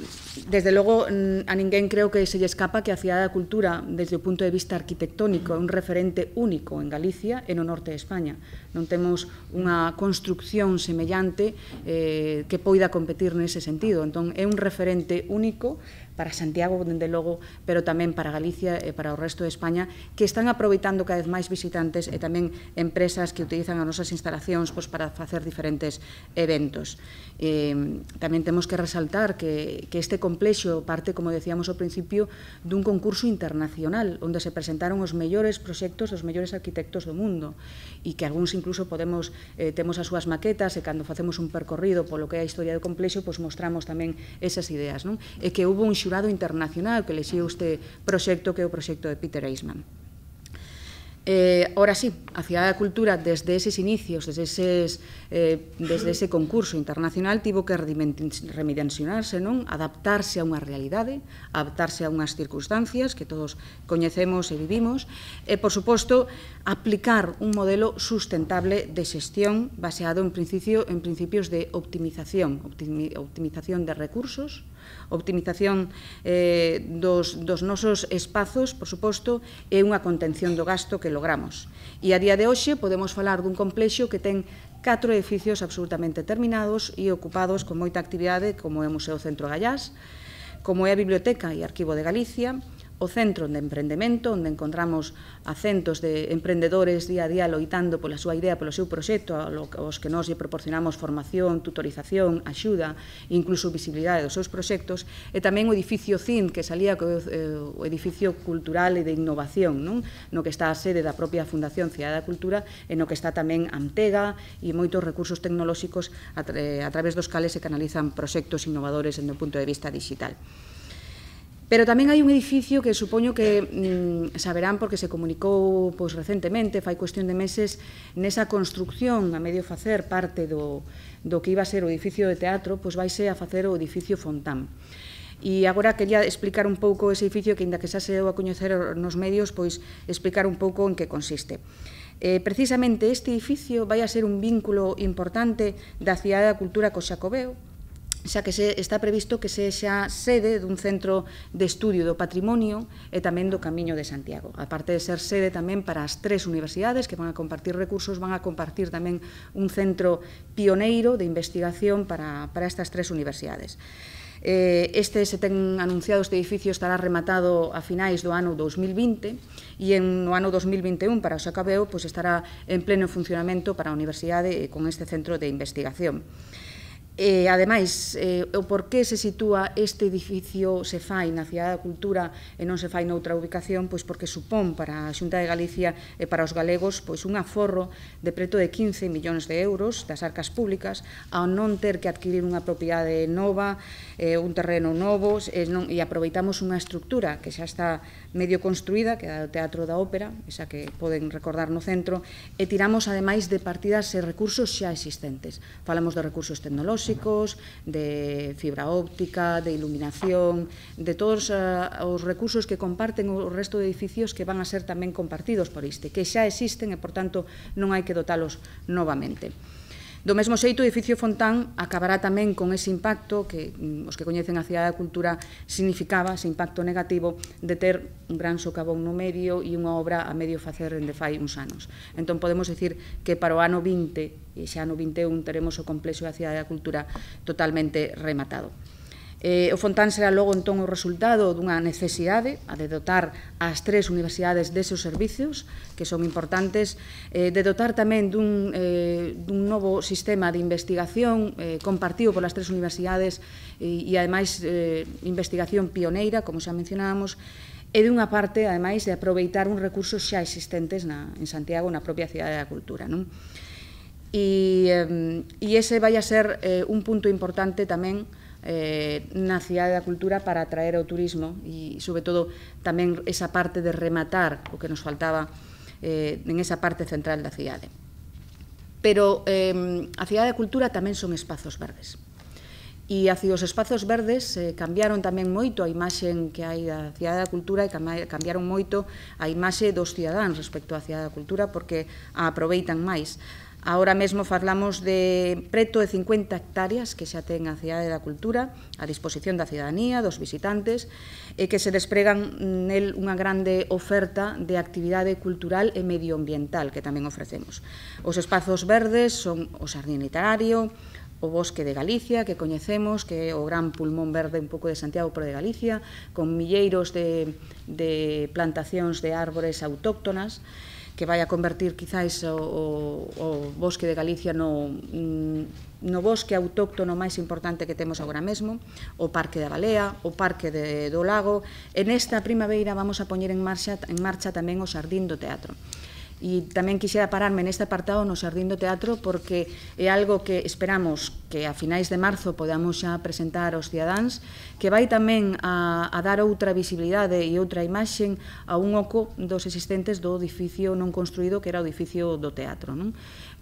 desde logo, a ninguén creo que se lle escapa que a Cidade da Cultura, desde o punto de vista arquitectónico, é un referente único en Galicia e no norte de España. Non temos unha construcción semellante eh, que poida competir nese sentido. Entón, é un referente único para Santiago, dende logo, pero tamén para Galicia e para o resto de España, que están aproveitando cada vez máis visitantes e tamén empresas que utilizan as nosas instalacións pois, para facer diferentes eventos. Eh, tamén temos que resaltar que, que este complexo parte, como decíamos ao principio, dun concurso internacional, onde se presentaron os mellores proxectos dos mellores arquitectos do mundo, e que algúns incluso podemos, eh, temos as súas maquetas, e cando facemos un percorrido polo que é a historia do complexo, pois mostramos tamén esas ideas, non? E que houve un xurado internacional que elixiu este proxecto, que é o proxecto de Peter Eisman. Eh, ahora sí, a Cidade da Cultura, desde eses inicios, desde, eses, eh, desde ese concurso internacional, tivo que redimensionarse, non? Adaptarse a unha realidade, adaptarse a unhas circunstancias que todos coñecemos e vivimos, e, por suposto, aplicar un modelo sustentable de xestión baseado en, principio, en principios de optimización, optimi, optimización de recursos, optimización eh, dos, dos nosos espazos, por suposto, e unha contención do gasto que logramos. E a día de hoxe podemos falar dun complexo que ten catro edificios absolutamente terminados e ocupados con moita actividade, como é o Museo Centro Gallás, como é a Biblioteca e Arquivo de Galicia, o Centro de Emprendemento, onde encontramos a centos de emprendedores día a día loitando pola súa idea, polo seu proxecto, aos que nós lle proporcionamos formación, tutorización, axuda, incluso visibilidade dos seus proxectos, e tamén o edificio C I N, que salía o edificio cultural e de innovación, non? No que está a sede da propia Fundación Cidade da Cultura, e no que está tamén Antega e moitos recursos tecnolóxicos a, a través dos cales se canalizan proxectos innovadores desde o punto de vista digital. Pero tamén hai un edificio que supoño que mm, saberán porque se comunicou pois, recentemente, fai cuestión de meses, nesa construcción a medio facer parte do, do que iba a ser o edificio de teatro, pois vaise a facer o edificio Fontán. E agora quería explicar un pouco ese edificio que, inda que xa se deu a coñecer nos medios, pois explicar un pouco en que consiste. Eh, precisamente este edificio vai a ser un vínculo importante da Cidade da Cultura co Xacobeo, xa que se está previsto que sexa sede dun centro de estudio do patrimonio e tamén do Camiño de Santiago. A parte de ser sede tamén para as tres universidades que van a compartir recursos, van a compartir tamén un centro pioneiro de investigación para, para estas tres universidades. Eh, este se ten anunciado, este edificio estará rematado a finais do ano dous mil vinte e en, no ano dous mil vinte e un para o Xacobeo pois, estará en pleno funcionamento para a universidade con este centro de investigación. E, ademais, eh, o porqué se sitúa este edificio se fai na Cidade da Cultura e non se fai noutra ubicación, pois porque supón para a Xunta de Galicia e para os galegos pois un aforro de preto de quince millóns de euros das arcas públicas ao non ter que adquirir unha propiedade nova, eh, un terreno novo, e, non, e aproveitamos unha estructura que xa está medio construída, que é o Teatro da Ópera, esa que poden recordar no centro, e tiramos, ademais, de partidas e recursos xa existentes. Falamos de recursos tecnolóxicos, de fibra óptica, de iluminación, de todos uh, os recursos que comparten o resto de edificios que van a ser tamén compartidos por este, que xa existen e, por tanto, non hai que dotalos novamente. Do mesmo xeito, o edificio Fontán acabará tamén con ese impacto que os que coñecen a Cidade da Cultura significaba, ese impacto negativo de ter un gran socavón no medio e unha obra a medio facer dende fai uns anos. Entón, podemos dicir que para o ano vinte e xa no vinte e un teremos o complexo da Cidade da Cultura totalmente rematado. Eh, o Fontán será logo entón o resultado dunha necesidade a de dotar as tres universidades deses servicios que son importantes, eh, de dotar tamén dun, eh, dun novo sistema de investigación eh, compartido polas tres universidades e, e ademais eh, investigación pioneira, como xa mencionábamos, e dunha parte, ademais, de aproveitar uns recursos xa existentes na, en Santiago, na propia Cidade da Cultura, non? E, eh, e ese vai a ser eh, un punto importante tamén Eh, na Cidade da Cultura para atraer ao turismo e, sobre todo, tamén esa parte de rematar o que nos faltaba eh, en esa parte central da cidade. Pero eh, a Cidade da Cultura tamén son espazos verdes. E así os espazos verdes eh, cambiaron tamén moito a imaxe que hai da Cidade da Cultura e cambiaron moito a imaxe dos cidadáns respecto á Cidade da Cultura porque a aproveitan máis. Agora mesmo falamos de preto de cincuenta hectáreas que xa ten a Cidade da Cultura a disposición da cidadanía, dos visitantes, e que se despregan nel unha grande oferta de actividade cultural e medioambiental que tamén ofrecemos. Os espazos verdes son o Xardín Literario, o Bosque de Galicia, que coñecemos, que é o gran pulmón verde un pouco de Santiago, pero de Galicia, con milleiros de, de plantacións de árbores autóctonas, que vai a convertir quizás o, o, o Bosque de Galicia no, no bosque autóctono máis importante que temos agora mesmo, o Parque da Balea, o Parque de, do Lago, e nesta primavera vamos a poñer en marcha, en marcha tamén o Xardín do Teatro. E tamén quixera pararme neste apartado no Xardín do Teatro porque é algo que esperamos que a finais de marzo podamos xa presentar aos cidadáns, que vai tamén a, a dar outra visibilidade e outra imaxen a un oco dos existentes do edificio non construído que era o edificio do teatro, non?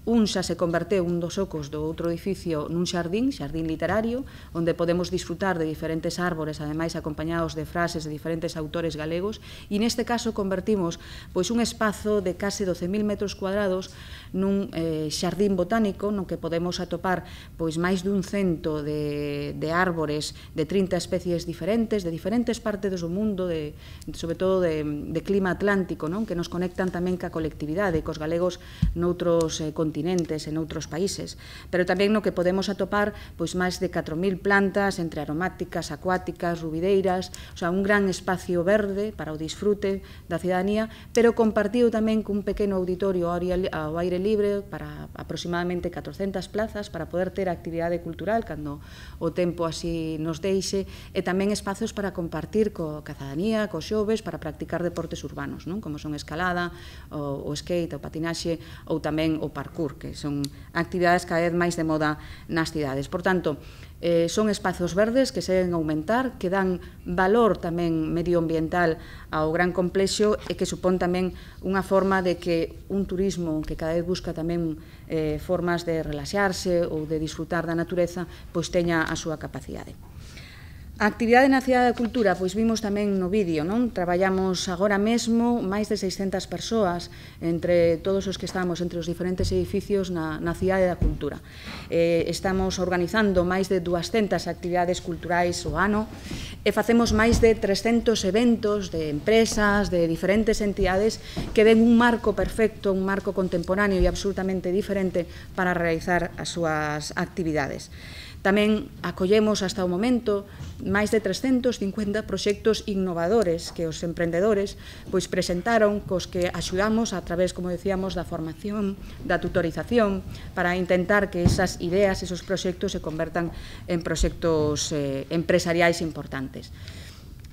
Un xa se converteu un dos ocos do outro edificio nun xardín, xardín literario, onde podemos disfrutar de diferentes árbores, ademais acompañados de frases de diferentes autores galegos, e neste caso convertimos pois, un espazo de case doce mil metros cuadrados nun eh, xardín botánico no que podemos atopar pois, máis dun cento de, de árbores de trinta especies diferentes, de diferentes partes do mundo, de, sobre todo de, de clima atlántico, non? Que nos conectan tamén ca colectividade, cos galegos noutros eh, continentes continentes en outros países, pero tamén no que podemos atopar pois máis de catro mil plantas entre aromáticas, acuáticas, rubideiras, o sea, un gran espacio verde para o disfrute da cidadanía, pero compartido tamén cun pequeno auditorio ao aire libre para aproximadamente catrocentas plazas para poder ter actividade cultural cando o tempo así nos deixe, e tamén espazos para compartir co cidadanía, cos xoves, para practicar deportes urbanos, non? Como son a escalada, o, o skate, o patinaxe ou tamén o parkour, que son actividades cada vez máis de moda nas cidades. Por tanto, eh, son espazos verdes que se deben aumentar, que dan valor tamén medioambiental ao gran complexo e que supón tamén unha forma de que un turismo que cada vez busca tamén eh, formas de relaxarse ou de disfrutar da natureza, pois teña a súa capacidade. A actividade na Cidade da Cultura, pois vimos tamén no vídeo, non? Traballamos agora mesmo máis de seiscentas persoas entre todos os que estamos entre os diferentes edificios na, na Cidade da Cultura. Eh, estamos organizando máis de duascentas actividades culturais o ano e facemos máis de trescentos eventos de empresas, de diferentes entidades que den un marco perfecto, un marco contemporáneo e absolutamente diferente para realizar as súas actividades. Tamén acollemos hasta o momento máis de trescentos cincuenta proxectos innovadores que os emprendedores pois presentaron, cos que axudamos a través, como decíamos, da formación, da tutorización, para intentar que esas ideas, esos proxectos se convertan en proxectos eh, empresariais importantes.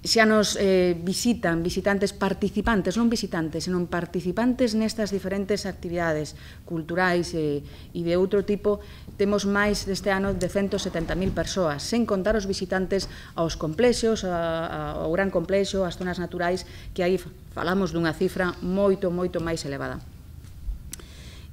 Xa nos eh, visitan visitantes participantes, non visitantes, senón participantes nestas diferentes actividades culturais e, e de outro tipo. Temos máis deste ano de ciento setenta mil persoas, sen contar os visitantes aos complexos, a, a, ao gran complexo, ás zonas naturais, que aí falamos dunha cifra moito, moito máis elevada.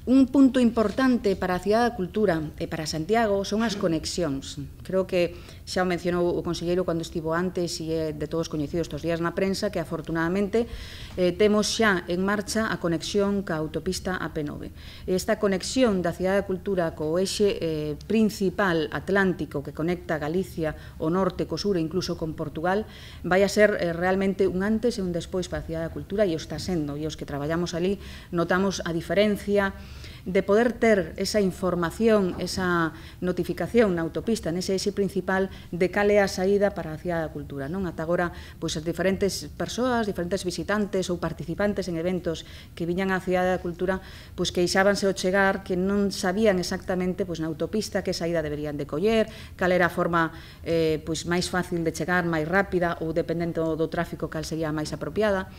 Un punto importante para a Cidade da Cultura e para Santiago son as conexións. Creo que xa o mencionou o conselleiro cando estivo antes e é de todos coñecido estes días na prensa que afortunadamente eh, temos xa en marcha a conexión ca autopista A P nove. Esta conexión da Cidade da Cultura co eixe eh, principal atlántico que conecta Galicia, o norte, co sur e incluso con Portugal vai a ser eh, realmente un antes e un despois para a Cidade da Cultura, e o está sendo, e os que traballamos ali notamos a diferencia de poder ter esa información, esa notificación na autopista, nese eixe principal de cal é a saída para a Cidade da Cultura. Non? Ata agora, pois, as diferentes persoas, diferentes visitantes ou participantes en eventos que viñan á Cidade da Cultura, pois queixábanse ao chegar que non sabían exactamente pois, na autopista que saída deberían de coller, cal era a forma eh, pois, máis fácil de chegar, máis rápida, ou dependendo do tráfico cal sería máis apropiada.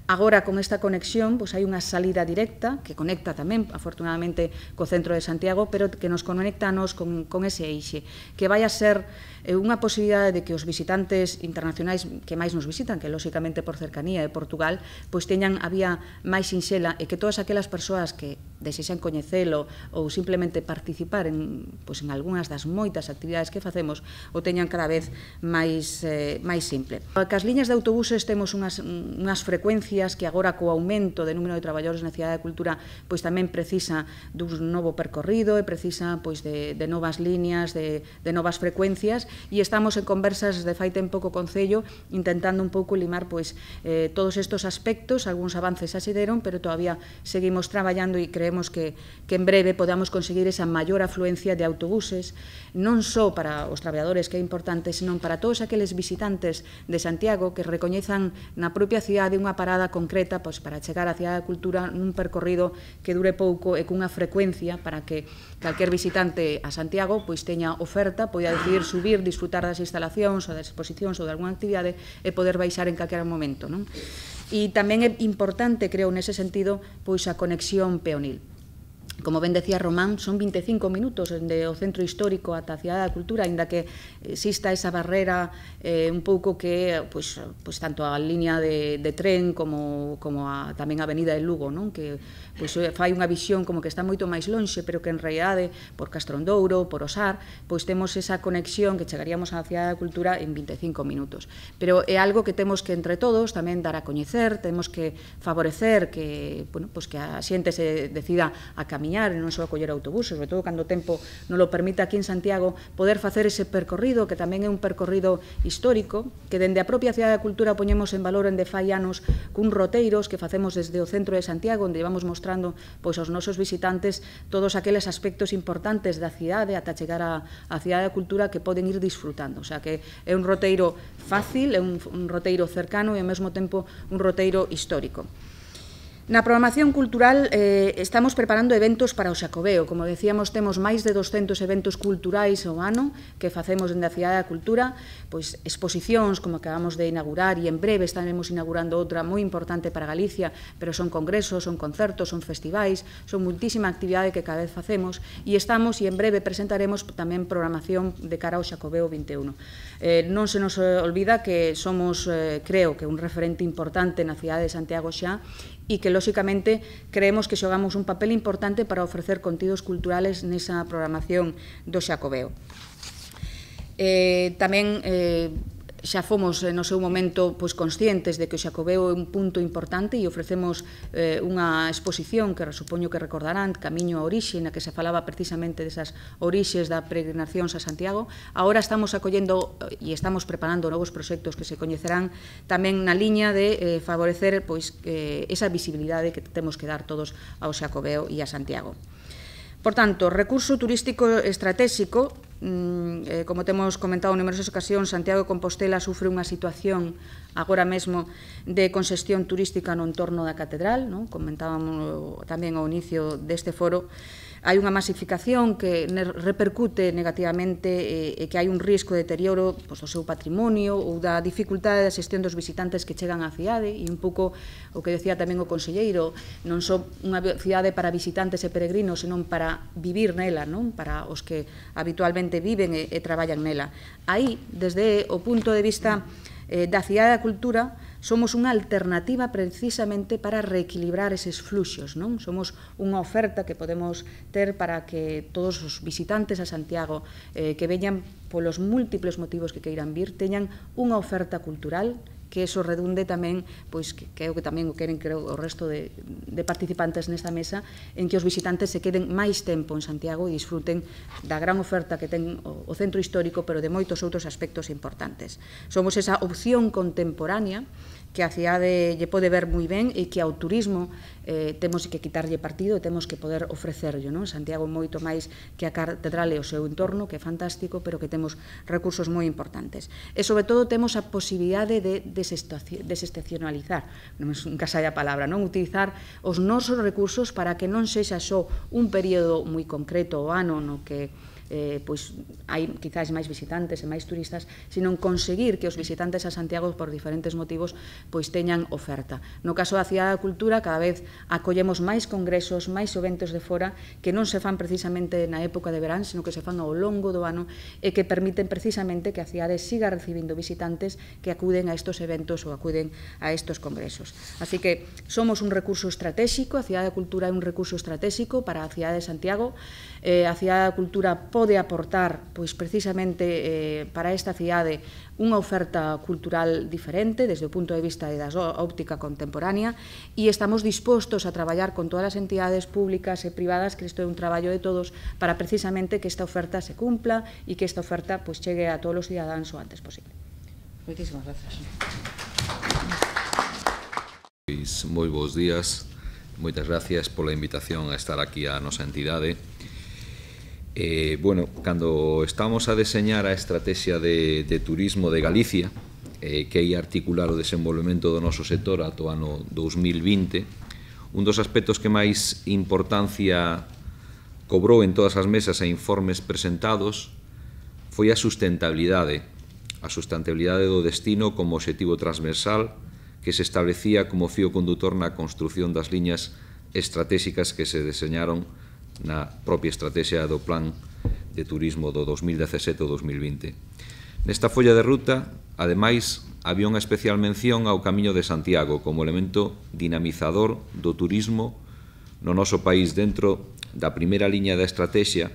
Agora, con esta conexión, pois hai unha salida directa que conecta tamén, afortunadamente, co centro de Santiago, pero que nos conecta a nos con, con ese eixe, que vai a ser eh, unha posibilidade de que os visitantes internacionais que máis nos visitan, que lóxicamente por cercanía de Portugal, pois teñan a vía máis sinxela e que todas aquelas persoas que desexan coñecelo ou simplemente participar en, pois, en algunhas das moitas actividades que facemos o teñan cada vez máis, eh, máis simple. Cas liñas de autobuses temos unhas, unhas frecuencias que agora co aumento de número de traballadores na Cidade da Cultura pois tamén precisa dun novo percorrido e precisa pois de, de novas líneas, de, de novas frecuencias, e estamos en conversas de fai tempo co Concello intentando un pouco limar pois eh, todos estes aspectos. Algúns avances xa se deron, pero todavía seguimos traballando e creemos esperemos que, que en breve podamos conseguir esa maior afluencia de autobuses, non só para os traballadores, que é importante, senón para todos aqueles visitantes de Santiago que recoñezan na propia cidade unha parada concreta pois, para chegar á Cidade da Cultura nun percorrido que dure pouco e cunha frecuencia para que calquer visitante a Santiago pois teña oferta, poida decidir subir, disfrutar das instalacións ou das exposicións ou de alguna actividade e poder baixar en calquera momento, non? E tamén é importante, creo, nese sentido, pois a conexión peonil. Como ben decía Román, son vinte e cinco minutos dende o centro histórico ata a Cidade da Cultura, aínda que exista esa barrera eh, un pouco que, pois, pois tanto a línea de, de tren como, como a, tamén a avenida de Lugo, non? Que pois, fai unha visión como que está moito máis lonxe, pero que en realidade, por Castrondouro, por Osar, pois temos esa conexión que chegaríamos á Cidade da Cultura en vinte e cinco minutos. Pero é algo que temos que entre todos tamén dar a coñecer, temos que favorecer que, bueno, pois que a xente se decida a camiñar e non só a coller autobuses, sobre todo cando o tempo non lo permite aquí en Santiago, poder facer ese percorrido, que tamén é un percorrido histórico, que dende a propia Cidade da Cultura poñemos en valor en de fai anos cun roteiros que facemos desde o centro de Santiago, onde vamos mostrando pois, aos nosos visitantes todos aqueles aspectos importantes da cidade ata chegar á, á Cidade da Cultura que poden ir disfrutando. O sea, que é un roteiro fácil, é un, un roteiro cercano e ao mesmo tempo un roteiro histórico. Na programación cultural eh, estamos preparando eventos para o Xacobeo. Como decíamos, temos máis de doscentos eventos culturais ao ano que facemos dende a Cidade da Cultura, pois exposicións como acabamos de inaugurar e en breve estaremos inaugurando outra moi importante para Galicia, pero son congresos, son concertos, son festivais, son muitísima actividade que cada vez facemos e estamos e en breve presentaremos tamén programación de cara ao Xacobeo vinte e un. Eh, non se nos olvida que somos, eh, creo que un referente importante na cidade de Santiago xa e que, lóxicamente, creemos que xogamos un papel importante para ofrecer contidos culturales nesa programación do Xacobeo. Eh, tamén eh, xa fomos no seu momento pois, conscientes de que o Xacobeo é un punto importante e ofrecemos eh, unha exposición que supoño que recordarán, Camiño a Orixe, na que se falaba precisamente desas orixes da peregrinacións a Santiago. Agora estamos acollendo e estamos preparando novos proxectos que se coñecerán tamén na liña de eh, favorecer pois, eh, esa visibilidade que temos que dar todos ao Xacobeo e a Santiago. Por tanto, recurso turístico estratégico, eh, como temos comentado en numerosas ocasións, Santiago de Compostela sufre unha situación agora mesmo de congestión turística no entorno da catedral, non? Comentábamos tamén ao inicio deste foro. Hai unha masificación que repercute negativamente e que hai un risco de deterioro do seu patrimonio ou da dificultade da xestión dos visitantes que chegan á cidade e un pouco o que decía tamén o conselleiro, non só unha cidade para visitantes e peregrinos, senón para vivir nela, non? Para os que habitualmente viven e traballan nela. Aí, desde o punto de vista da Cidade da Cultura, somos unha alternativa precisamente para reequilibrar eses fluxos, non? Somos unha oferta que podemos ter para que todos os visitantes a Santiago eh, que veñan polos múltiples motivos que queiran vir, teñan unha oferta cultural que eso redunde tamén, pois que creo que tamén o queren creo o resto de, de participantes nesta mesa, en que os visitantes se queden máis tempo en Santiago e disfruten da gran oferta que ten o, o centro histórico, pero de moitos outros aspectos importantes. Somos esa opción contemporánea que a cidade lle pode ver moi ben e que ao turismo eh, temos que quitarlle partido e temos que poder ofrecerlo, non? Santiago moito máis que a catedral e o seu entorno, que é fantástico, pero que temos recursos moi importantes. E, sobre todo, temos a posibilidade de desestacionalizar, nunca sai a palabra, non? Utilizar os nosos recursos para que non sexa só un período moi concreto o ano no que Eh, pois hai quizás máis visitantes e máis turistas, sino conseguir que os visitantes a Santiago por diferentes motivos pois teñan oferta. No caso da Cidade da Cultura, cada vez acollemos máis congresos, máis eventos de fora que non se fan precisamente na época de verán, sino que se fan ao longo do ano e que permiten precisamente que a cidade siga recibindo visitantes que acuden a estos eventos ou acuden a estos congresos. Así que somos un recurso estratégico, a Cidade da Cultura é un recurso estratégico para a cidade de Santiago. Eh, a Cidade da Cultura pode aportar pois precisamente eh, para esta cidade unha oferta cultural diferente desde o punto de vista da óptica contemporánea e estamos dispostos a traballar con todas as entidades públicas e privadas, que isto é un traballo de todos, para precisamente que esta oferta se cumpla e que esta oferta pois chegue a todos os cidadáns o antes posible. Moitísimas grazas. Moi bons días. moitas gracias pola invitación a estar aquí a nosa entidade. Eh, bueno, cando estamos a deseñar a estrategia de, de turismo de Galicia, eh, que ia articular o desenvolvemento do noso sector ata o ano dous mil vinte, un dos aspectos que máis importancia cobrou en todas as mesas e informes presentados foi a sustentabilidade, a sustentabilidade do destino como obxectivo transversal que se establecía como fío condutor na construción das liñas estratégicas que se deseñaron na propia estrategia do Plan de Turismo do dos mil dezasete ao dos mil vinte. Nesta folla de ruta, ademais, había unha especial mención ao Camiño de Santiago como elemento dinamizador do turismo no noso país dentro da primeira liña da estrategia,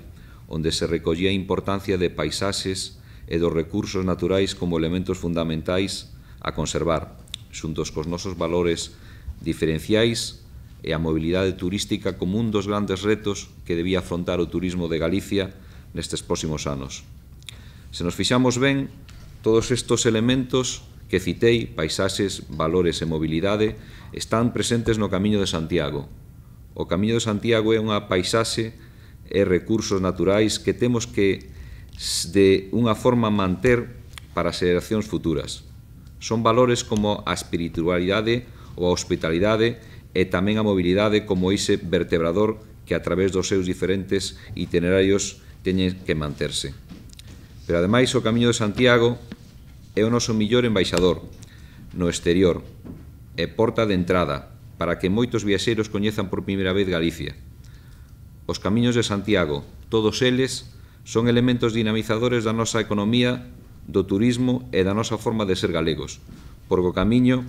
onde se recollía a importancia de paisaxes e dos recursos naturais como elementos fundamentais a conservar, xuntos cos nosos valores diferenciais e a mobilidade turística como un dos grandes retos que debía afrontar o turismo de Galicia nestes próximos anos. Se nos fixamos ben, todos estes elementos que citei, paisaxes, valores e mobilidade, están presentes no Camiño de Santiago. O Camiño de Santiago é unha paisaxe e recursos naturais que temos que, de unha forma, manter para as xeracións futuras. Son valores como a espiritualidade ou a hospitalidade e tamén a mobilidade como ese vertebrador que a través dos seus diferentes itinerarios teñen que manterse. Pero ademais o Camiño de Santiago é o noso millor embaixador no exterior e porta de entrada para que moitos viaxeiros coñezan por primeira vez Galicia. Os Camiños de Santiago, todos eles, son elementos dinamizadores da nosa economía, do turismo e da nosa forma de ser galegos, porque o Camiño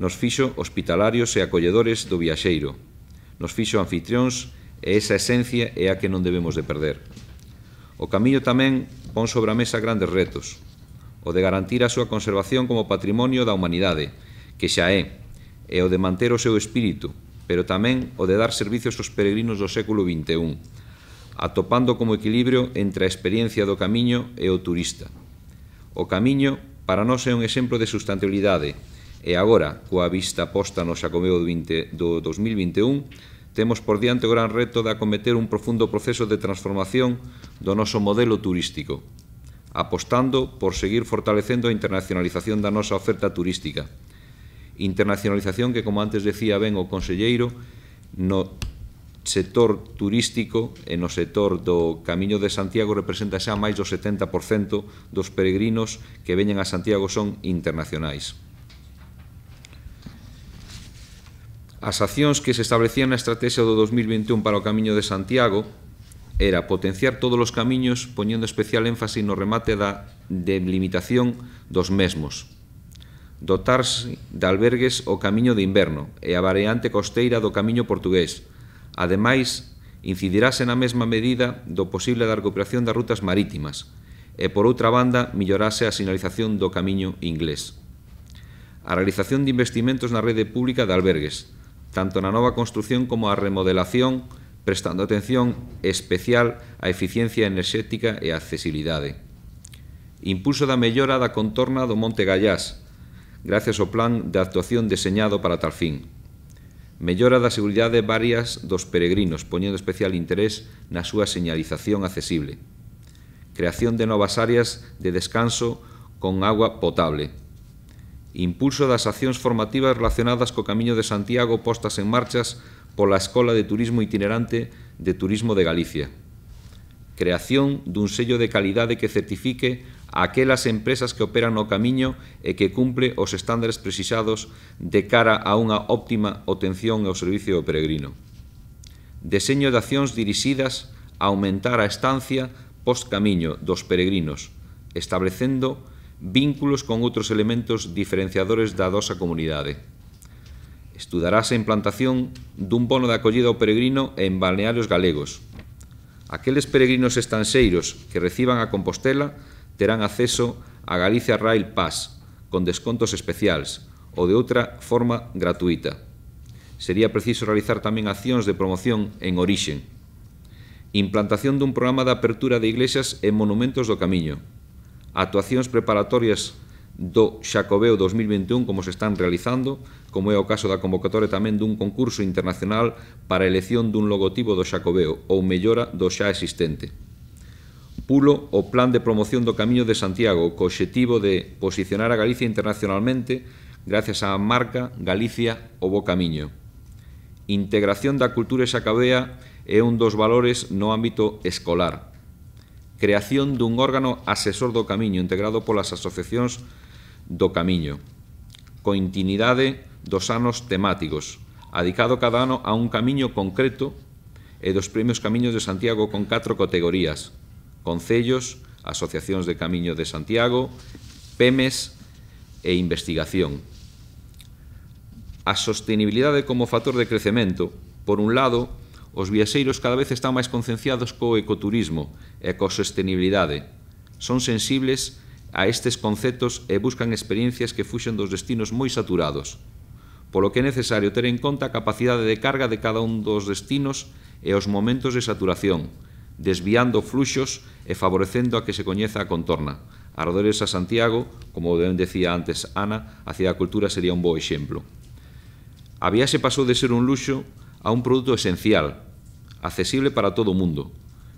nos fixo hospitalarios e acolledores do viaxeiro, nos fixo anfitrións e esa esencia é a que non debemos de perder. O Camiño tamén pon sobre a mesa grandes retos, o de garantir a súa conservación como patrimonio da humanidade, que xa é, e o de manter o seu espírito, pero tamén o de dar servicios aos peregrinos do século vinte e un, atopando como equilibrio entre a experiencia do Camiño e o turista. O Camiño, para nós, é un exemplo de sustentabilidade, e agora, coa vista posta no Xacobeo do dos mil vinte e un, temos por diante o gran reto de acometer un profundo proceso de transformación do noso modelo turístico, apostando por seguir fortalecendo a internacionalización da nosa oferta turística. Internacionalización que, como antes decía ben o conselleiro, no sector turístico e no sector do Camiño de Santiago representa xa máis do setenta por cento dos peregrinos que veñen a Santiago son internacionais. As accións que se establecían na estrategia do dos mil vinte e un para o Camiño de Santiago era potenciar todos os camiños poñendo especial énfasis no remate da delimitación dos mesmos, dotarse de albergues o Camiño de Inverno e a variante costeira do Camiño portugués. Ademais, incidirase na mesma medida do posible da recuperación das rutas marítimas e, por outra banda, millorase a sinalización do Camiño inglés. A realización de investimentos na rede pública de albergues, tanto na nova construción como a remodelación, prestando atención especial á eficiencia enerxética e á accesibilidade. Impulso da mellora da contorna do Monte Gallás, gracias ao plan de actuación deseñado para tal fin. Mellora da seguridade varias dos peregrinos, poñendo especial interés na súa señalización accesible. Creación de novas áreas de descanso con agua potable. Impulso das accións formativas relacionadas co Camiño de Santiago postas en marchas pola Escola de Turismo Itinerante de Turismo de Galicia. Creación dun sello de calidade que certifique a aquelas empresas que operan no Camiño e que cumple os estándares precisados de cara a unha óptima obtención ao servicio do peregrino. Deseño de accións dirixidas a aumentar a estancia post-camiño dos peregrinos, establecendo vínculos con outros elementos diferenciadores da nosa comunidade. Estudarase a implantación dun bono de acollida ao peregrino en balnearios galegos. Aqueles peregrinos estanxeiros que reciban a Compostela terán acceso a Galicia Rail Pass, con descontos especiais, ou de outra forma gratuita. Sería preciso realizar tamén accións de promoción en orixen. Implantación dun programa de apertura de iglesias e monumentos do Camiño. Actuacións preparatorias do Xacobeo dos mil vinte e un como se están realizando, como é o caso da convocatoria tamén dun concurso internacional para a elección dun logotipo do Xacobeo ou mellora do xa existente. Pulo o plan de promoción do Camiño de Santiago co obxectivo de posicionar a Galicia internacionalmente gracias á marca Galicia o Bo Camiño. Integración da cultura xacobea é un dos valores no ámbito escolar. Creación dun órgano asesor do Camiño integrado polas asociacións do Camiño. Continuidade dos anos temáticos, adicado cada ano a un camiño concreto e dos premios Camiños de Santiago con catro categorías: concellos, asociacións de Camiño de Santiago, P E M E S e investigación. A sostenibilidade como factor de crecemento. Por un lado, os viaxeiros cada vez están máis concienciados co ecoturismo e coa sostenibilidade. Son sensibles a estes conceptos e buscan experiencias que fuxen dos destinos moi saturados, polo que é necesario ter en conta a capacidade de carga de cada un dos destinos e os momentos de saturación, desviando fluxos e favorecendo a que se coñeza a contorna. Arredores a Santiago, como ben decía antes Ana, a Cidade da Cultura sería un bo exemplo. A viaxe pasou de ser un luxo a un produto esencial, accesible para todo o mundo.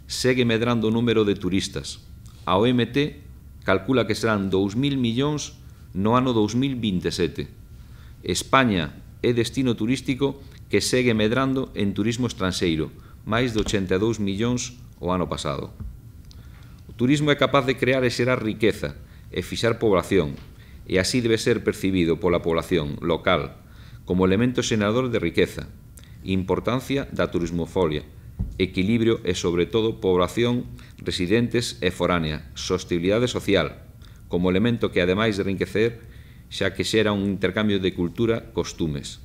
Segue medrando o número de turistas. A O M T calcula que serán dous mil millóns no ano dos mil vinte e sete. España é destino turístico que segue medrando en turismo estranxeiro, máis de ochenta e dous millóns o ano pasado. O turismo é capaz de crear e xerar riqueza e fixar población, e así debe ser percibido pola población local como elemento xerador de riqueza, importancia da turismofolia, equilibrio e, sobre todo, población residentes e foránea, sostenibilidade social, como elemento que, ademais de enriquecer, xa que xera un intercambio de cultura, costumes.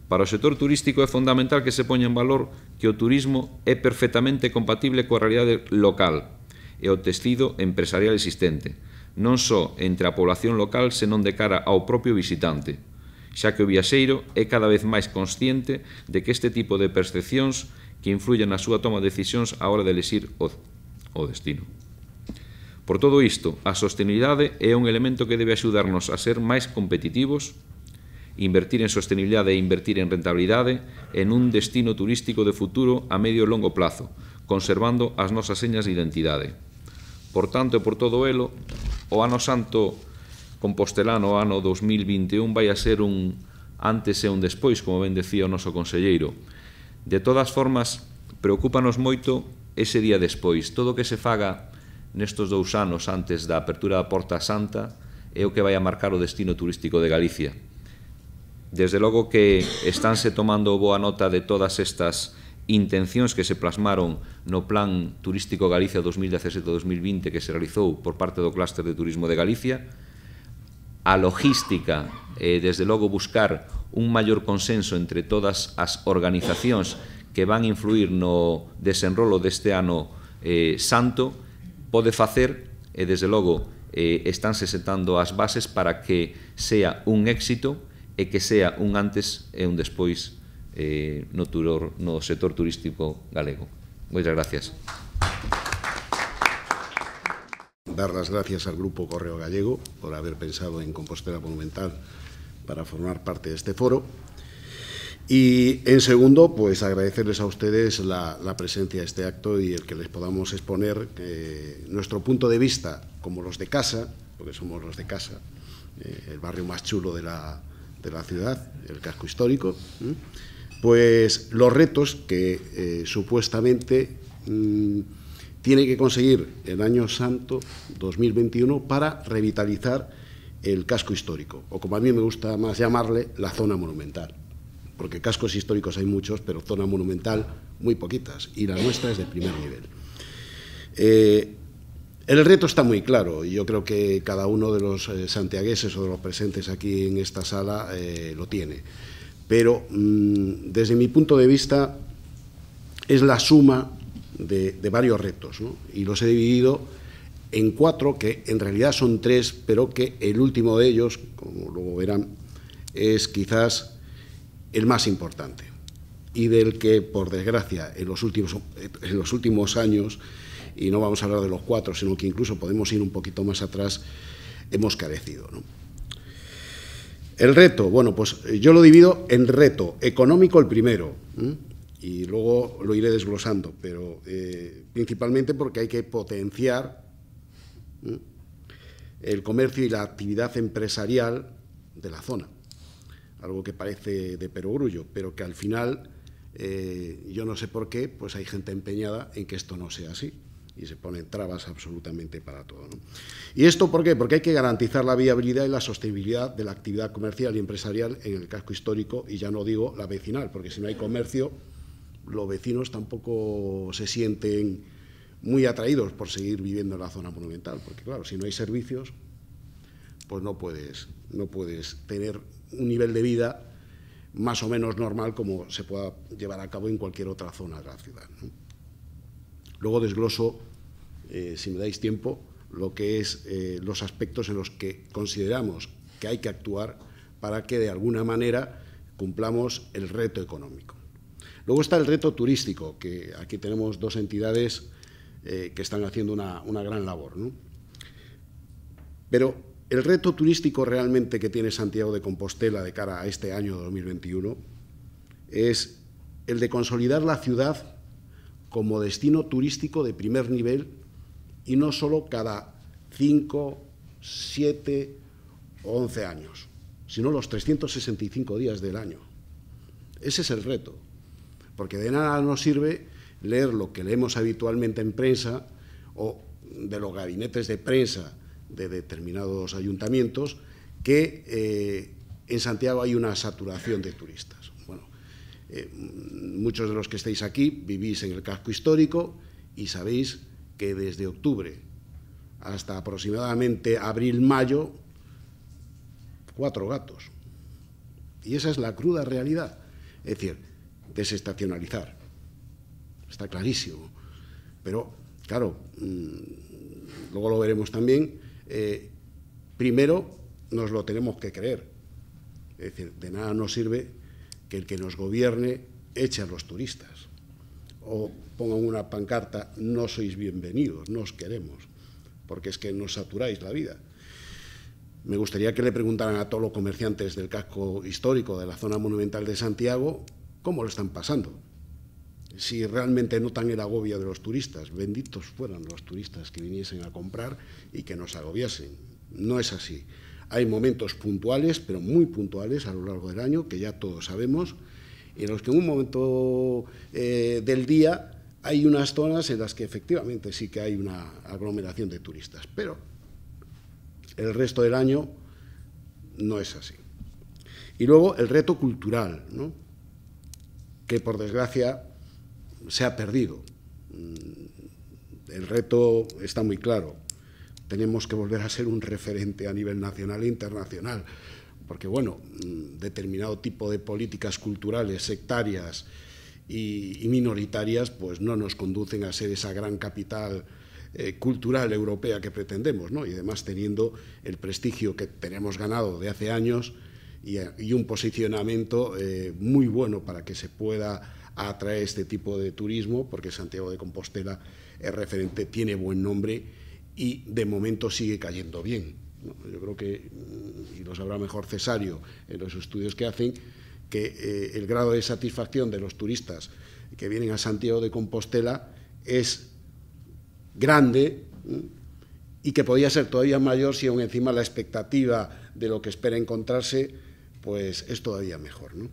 Para o sector turístico é fundamental que se poña en valor que o turismo é perfectamente compatible coa realidade local e o tecido empresarial existente, non só entre a población local, senón de cara ao propio visitante, xa que o viaxeiro é cada vez máis consciente de que este tipo de percepcións que influyen na súa toma de decisións á hora de elexir o, o destino. Por todo isto, a sostenibilidade é un elemento que debe axudarnos a ser máis competitivos, invertir en sostenibilidade e invertir en rentabilidade en un destino turístico de futuro a medio e longo plazo, conservando as nosas señas de identidade. Por tanto, e por todo elo, o ano santo compostelano, o ano dos mil vinte e un, vai a ser un antes e un despois, como ben decía o noso conselleiro. De todas formas, preocúpanos moito ese día despois. Todo o que se faga nestos dous anos antes da apertura da Porta Santa é o que vai a marcar o destino turístico de Galicia. Desde logo que estánse tomando boa nota de todas estas intencións que se plasmaron no Plan Turístico Galicia dos mil dezasete a dos mil vinte que se realizou por parte do Clúster de Turismo de Galicia. A logística, e desde logo buscar un maior consenso entre todas as organizacións que van influir no desenrolo deste ano eh, santo, pode facer, e desde logo eh, estánse sentando as bases para que sea un éxito e que sea un antes e un despois eh, no, turor, no sector turístico galego. Moitas gracias. Dar las gracias al Grupo Correo Gallego por haber pensado en Compostela Monumental para formar parte de este foro. Y, en segundo, pues agradecerles a ustedes la, la presencia de este acto y el que les podamos exponer eh, nuestro punto de vista como los de casa, porque somos los de casa, eh, el barrio más chulo de la, de la ciudad, el casco histórico, ¿eh? Pues los retos que eh, supuestamente mmm, tiene que conseguir el año santo dos mil veintiuno para revitalizar el casco histórico, o como a mí me gusta más llamarle, la zona monumental. Porque cascos históricos hay muchos, pero zona monumental muy poquitas, y la nuestra es de primer nivel. Eh, el reto está muy claro, y yo creo que cada uno de los eh, santiagueses o de los presentes aquí en esta sala eh, lo tiene. Pero, mmm, desde mi punto de vista, es la suma de, de varios retos, ¿no? Y los he dividido en cuatro, que en realidad son tres, pero que el último de ellos, como luego verán, es quizás el más importante, y del que, por desgracia, en los últimos, en los últimos años, y no vamos a hablar de los cuatro, sino que incluso podemos ir un poquito más atrás, hemos carecido, ¿no? El reto, bueno, pues yo lo divido en reto económico el primero, ¿eh? Y luego lo iré desglosando, pero eh, principalmente porque hay que potenciar ¿eh? el comercio y la actividad empresarial de la zona, algo que parece de perogrullo, pero que al final, eh, yo no sé por qué, pues hay gente empeñada en que esto no sea así. Y se ponen trabas absolutamente para todo, ¿no? ¿Y esto por qué? Porque hay que garantizar la viabilidad y la sostenibilidad de la actividad comercial y empresarial en el casco histórico, y ya no digo la vecinal, porque si no hay comercio, los vecinos tampoco se sienten muy atraídos por seguir viviendo en la zona monumental, porque claro, si no hay servicios, pues no puedes, no puedes tener un nivel de vida más o menos normal como se pueda llevar a cabo en cualquier otra zona de la ciudad, ¿no? Luego desgloso, eh, si me dais tiempo, lo que es eh, los aspectos en los que consideramos que hay que actuar para que de alguna manera cumplamos el reto económico. Luego está el reto turístico, que aquí tenemos dos entidades eh, que están haciendo una, una gran labor, ¿no? Pero el reto turístico realmente que tiene Santiago de Compostela de cara a este año dos mil veintiuno es el de consolidar la ciudad como destino turístico de primer nivel, y no solo cada cinco, siete o once años, sino los trescientos sesenta y cinco días del año. Ese es el reto, porque de nada nos sirve leer lo que leemos habitualmente en prensa o de los gabinetes de prensa de determinados ayuntamientos, que eh, en Santiago hay una saturación de turistas. Bueno, eh, muchos de los que estáis aquí vivís en el casco histórico y sabéis que desde octubre hasta aproximadamente abril-mayo, cuatro gatos. Y esa es la cruda realidad. Es decir, desestacionalizar. Está clarísimo. Pero, claro, mmm, luego lo veremos también, eh, primero nos lo tenemos que creer. Es decir, de nada nos sirve que el que nos gobierne eche a los turistas o pongan una pancarta: no sois bienvenidos, no os queremos, porque es que nos saturáis la vida. Me gustaría que le preguntaran a todos los comerciantes del casco histórico de la zona monumental de Santiago cómo lo están pasando, si realmente notan el agobio de los turistas. Benditos fueran los turistas que viniesen a comprar y que nos agobiasen. No es así. Hay momentos puntuales, pero muy puntuales a lo largo del año, que ya todos sabemos, en los que en un momento eh, del día hay unas zonas en las que efectivamente sí que hay una aglomeración de turistas, pero el resto del año no es así. Y luego el reto cultural, ¿no?, que por desgracia se ha perdido. El reto está muy claro. Tenemos que volver a ser un referente a nivel nacional e internacional, porque, bueno, determinado tipo de políticas culturales sectarias y, y minoritarias pues no nos conducen a ser esa gran capital eh, cultural europea que pretendemos, ¿no? Y además teniendo el prestigio que tenemos ganado de hace años y, y un posicionamiento eh, muy bueno para que se pueda atraer este tipo de turismo, porque Santiago de Compostela es referente, tiene buen nombre y de momento sigue cayendo bien, ¿no? Yo creo que, y lo sabrá mejor Cesario en los estudios que hacen, que eh, el grado de satisfacción de los turistas que vienen a Santiago de Compostela es grande, ¿eh?, y que podría ser todavía mayor si aún encima la expectativa de lo que espera encontrarse pues es todavía mejor, ¿no?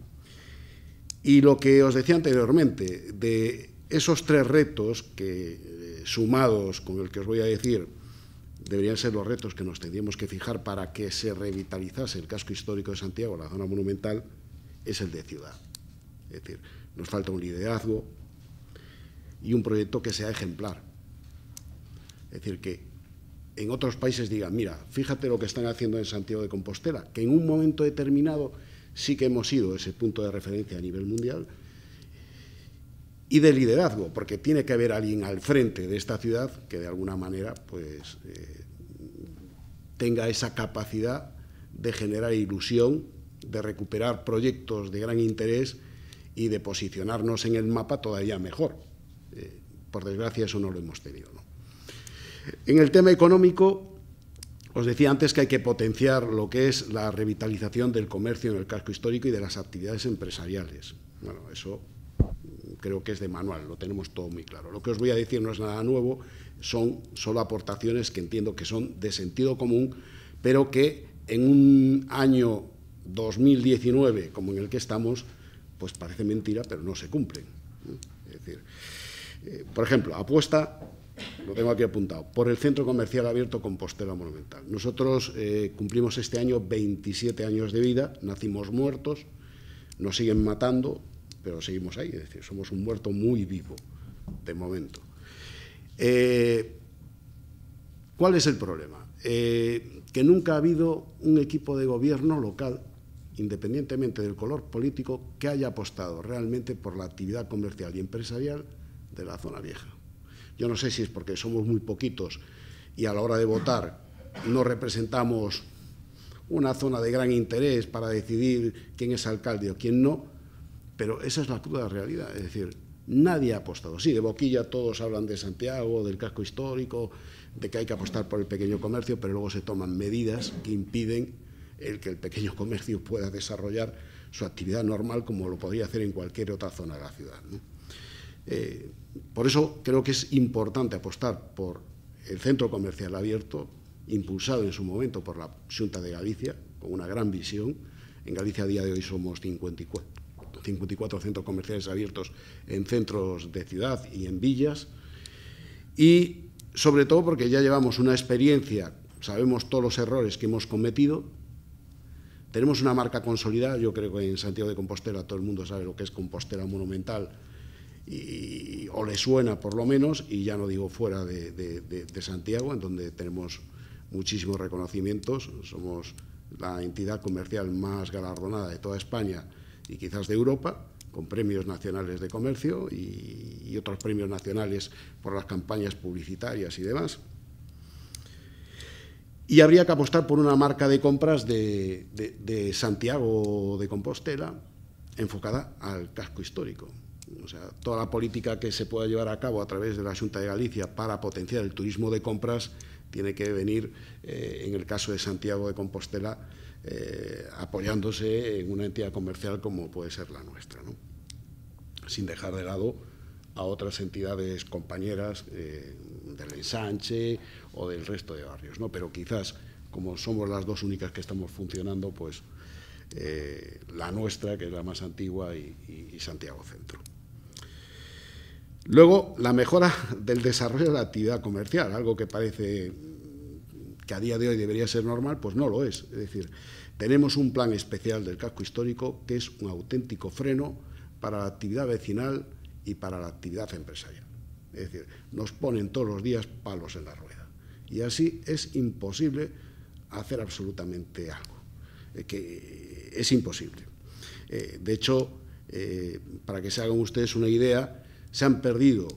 Y lo que os decía anteriormente, de esos tres retos que, eh, sumados con el que os voy a decir, deberían ser los retos que nos tendríamos que fijar para que se revitalizase el casco histórico de Santiago, la zona monumental, es el de ciudad. Es decir, nos falta un liderazgo y un proyecto que sea ejemplar. Es decir, que en otros países digan: mira, fíjate lo que están haciendo en Santiago de Compostela, que en un momento determinado sí que hemos sido ese punto de referencia a nivel mundial, y de liderazgo, porque tiene que haber alguien al frente de esta ciudad que de alguna manera pues eh, tenga esa capacidad de generar ilusión, de recuperar proyectos de gran interés y de posicionarnos en el mapa todavía mejor. Eh, por desgracia eso no lo hemos tenido, ¿no? En el tema económico, Os decía antes que hay que potenciar lo que es la revitalización del comercio en el casco histórico y de las actividades empresariales. Bueno, eso creo que es de manual, lo tenemos todo muy claro. Lo que os voy a decir no es nada nuevo, son solo aportaciones que entiendo que son de sentido común, pero que en un año dos mil diecinueve, como en el que estamos, pues parece mentira, pero no se cumplen. Es decir, eh, por ejemplo, apuesta, lo tengo aquí apuntado, por el Centro Comercial Abierto Compostela Monumental. Nosotros eh, cumplimos este año veintisiete años de vida, nacimos muertos, nos siguen matando, pero seguimos ahí, es decir, somos un muerto muy vivo, de momento. Eh, ¿Cuál es el problema? Eh, que nunca ha habido un equipo de gobierno local, independientemente del color político, que haya apostado realmente por la actividad comercial y empresarial de la zona vieja. Yo no sé si es porque somos muy poquitos y a la hora de votar no representamos una zona de gran interés para decidir quién es alcalde o quién no, pero esa es la cruda realidad. Es decir, nadie ha apostado. Sí, de boquilla todos hablan de Santiago, del casco histórico, de que hay que apostar por el pequeño comercio, pero luego se toman medidas que impiden el que el pequeño comercio pueda desarrollar su actividad normal como lo podría hacer en cualquier otra zona de la ciudad, ¿no? Eh, por eso creo que es importante apostar por el centro comercial abierto, impulsado en su momento por la Xunta de Galicia, con una gran visión. En Galicia a día de hoy somos cincuenta y cuatro centros comerciales abiertos en centros de ciudad y en villas, y sobre todo porque ya llevamos una experiencia, sabemos todos los errores que hemos cometido, tenemos una marca consolidada. Yo creo que en Santiago de Compostela todo el mundo sabe lo que es Compostela Monumental, y, o le suena por lo menos, y ya no digo fuera de, de, de, de Santiago, en donde tenemos muchísimos reconocimientos. Somos la entidad comercial más galardonada de toda España y quizás de Europa, con premios nacionales de comercio y, y otros premios nacionales por las campañas publicitarias y demás. Y habría que apostar por una marca de compras de, de, de Santiago de Compostela enfocada al casco histórico. O sea, toda la política que se pueda llevar a cabo a través de la Xunta de Galicia para potenciar el turismo de compras tiene que venir, eh, en el caso de Santiago de Compostela, eh, apoyándose en una entidad comercial como puede ser la nuestra, ¿no? Sin dejar de lado a otras entidades compañeras eh, del Ensanche o del resto de barrios, ¿no? Pero quizás, como somos las dos únicas que estamos funcionando, pues eh, la nuestra, que es la más antigua, y, y, y Santiago Centro. Luego, la mejora del desarrollo de la actividad comercial, algo que parece que a día de hoy debería ser normal, pues no lo es. Es decir, tenemos un plan especial del casco histórico que es un auténtico freno para la actividad vecinal y para la actividad empresarial. Es decir, nos ponen todos los días palos en la rueda. Y así es imposible hacer absolutamente algo. Eh, que es imposible. Eh, de hecho, eh, para que se hagan ustedes una idea, se han perdido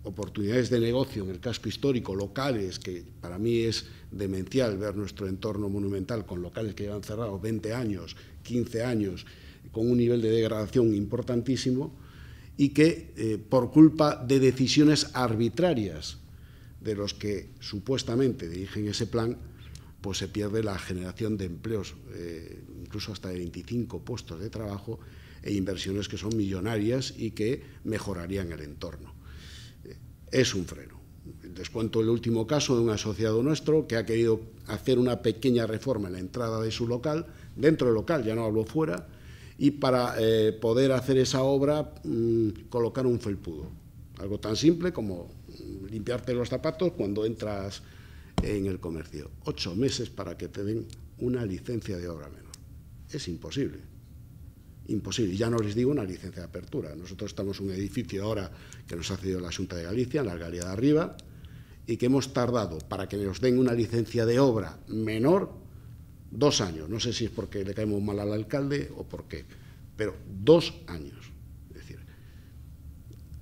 oportunidades de negocio en el casco histórico, locales, que para mí es demencial ver nuestro entorno monumental con locales que llevan cerrados veinte años, quince años, con un nivel de degradación importantísimo, y que eh, por culpa de decisiones arbitrarias de los que supuestamente dirigen ese plan, pues se pierde la generación de empleos, eh, incluso hasta de veinticinco puestos de trabajo, e inversiones que son millonarias y que mejorarían el entorno. Eh, es un freno. Les cuento el último caso de un asociado nuestro que ha querido hacer una pequeña reforma en la entrada de su local, dentro del local, ya no hablo fuera, y para eh, poder hacer esa obra, mmm, colocar un felpudo. Algo tan simple como limpiarte los zapatos cuando entras en el comercio. Ocho meses para que te den una licencia de obra menor. Es imposible. Imposible. Ya no les digo una licencia de apertura. Nosotros estamos en un edificio ahora que nos ha cedido la Xunta de Galicia, en la Galería de Arriba, y que hemos tardado para que nos den una licencia de obra menor dos años. No sé si es porque le caemos mal al alcalde o por qué, pero dos años. Es decir,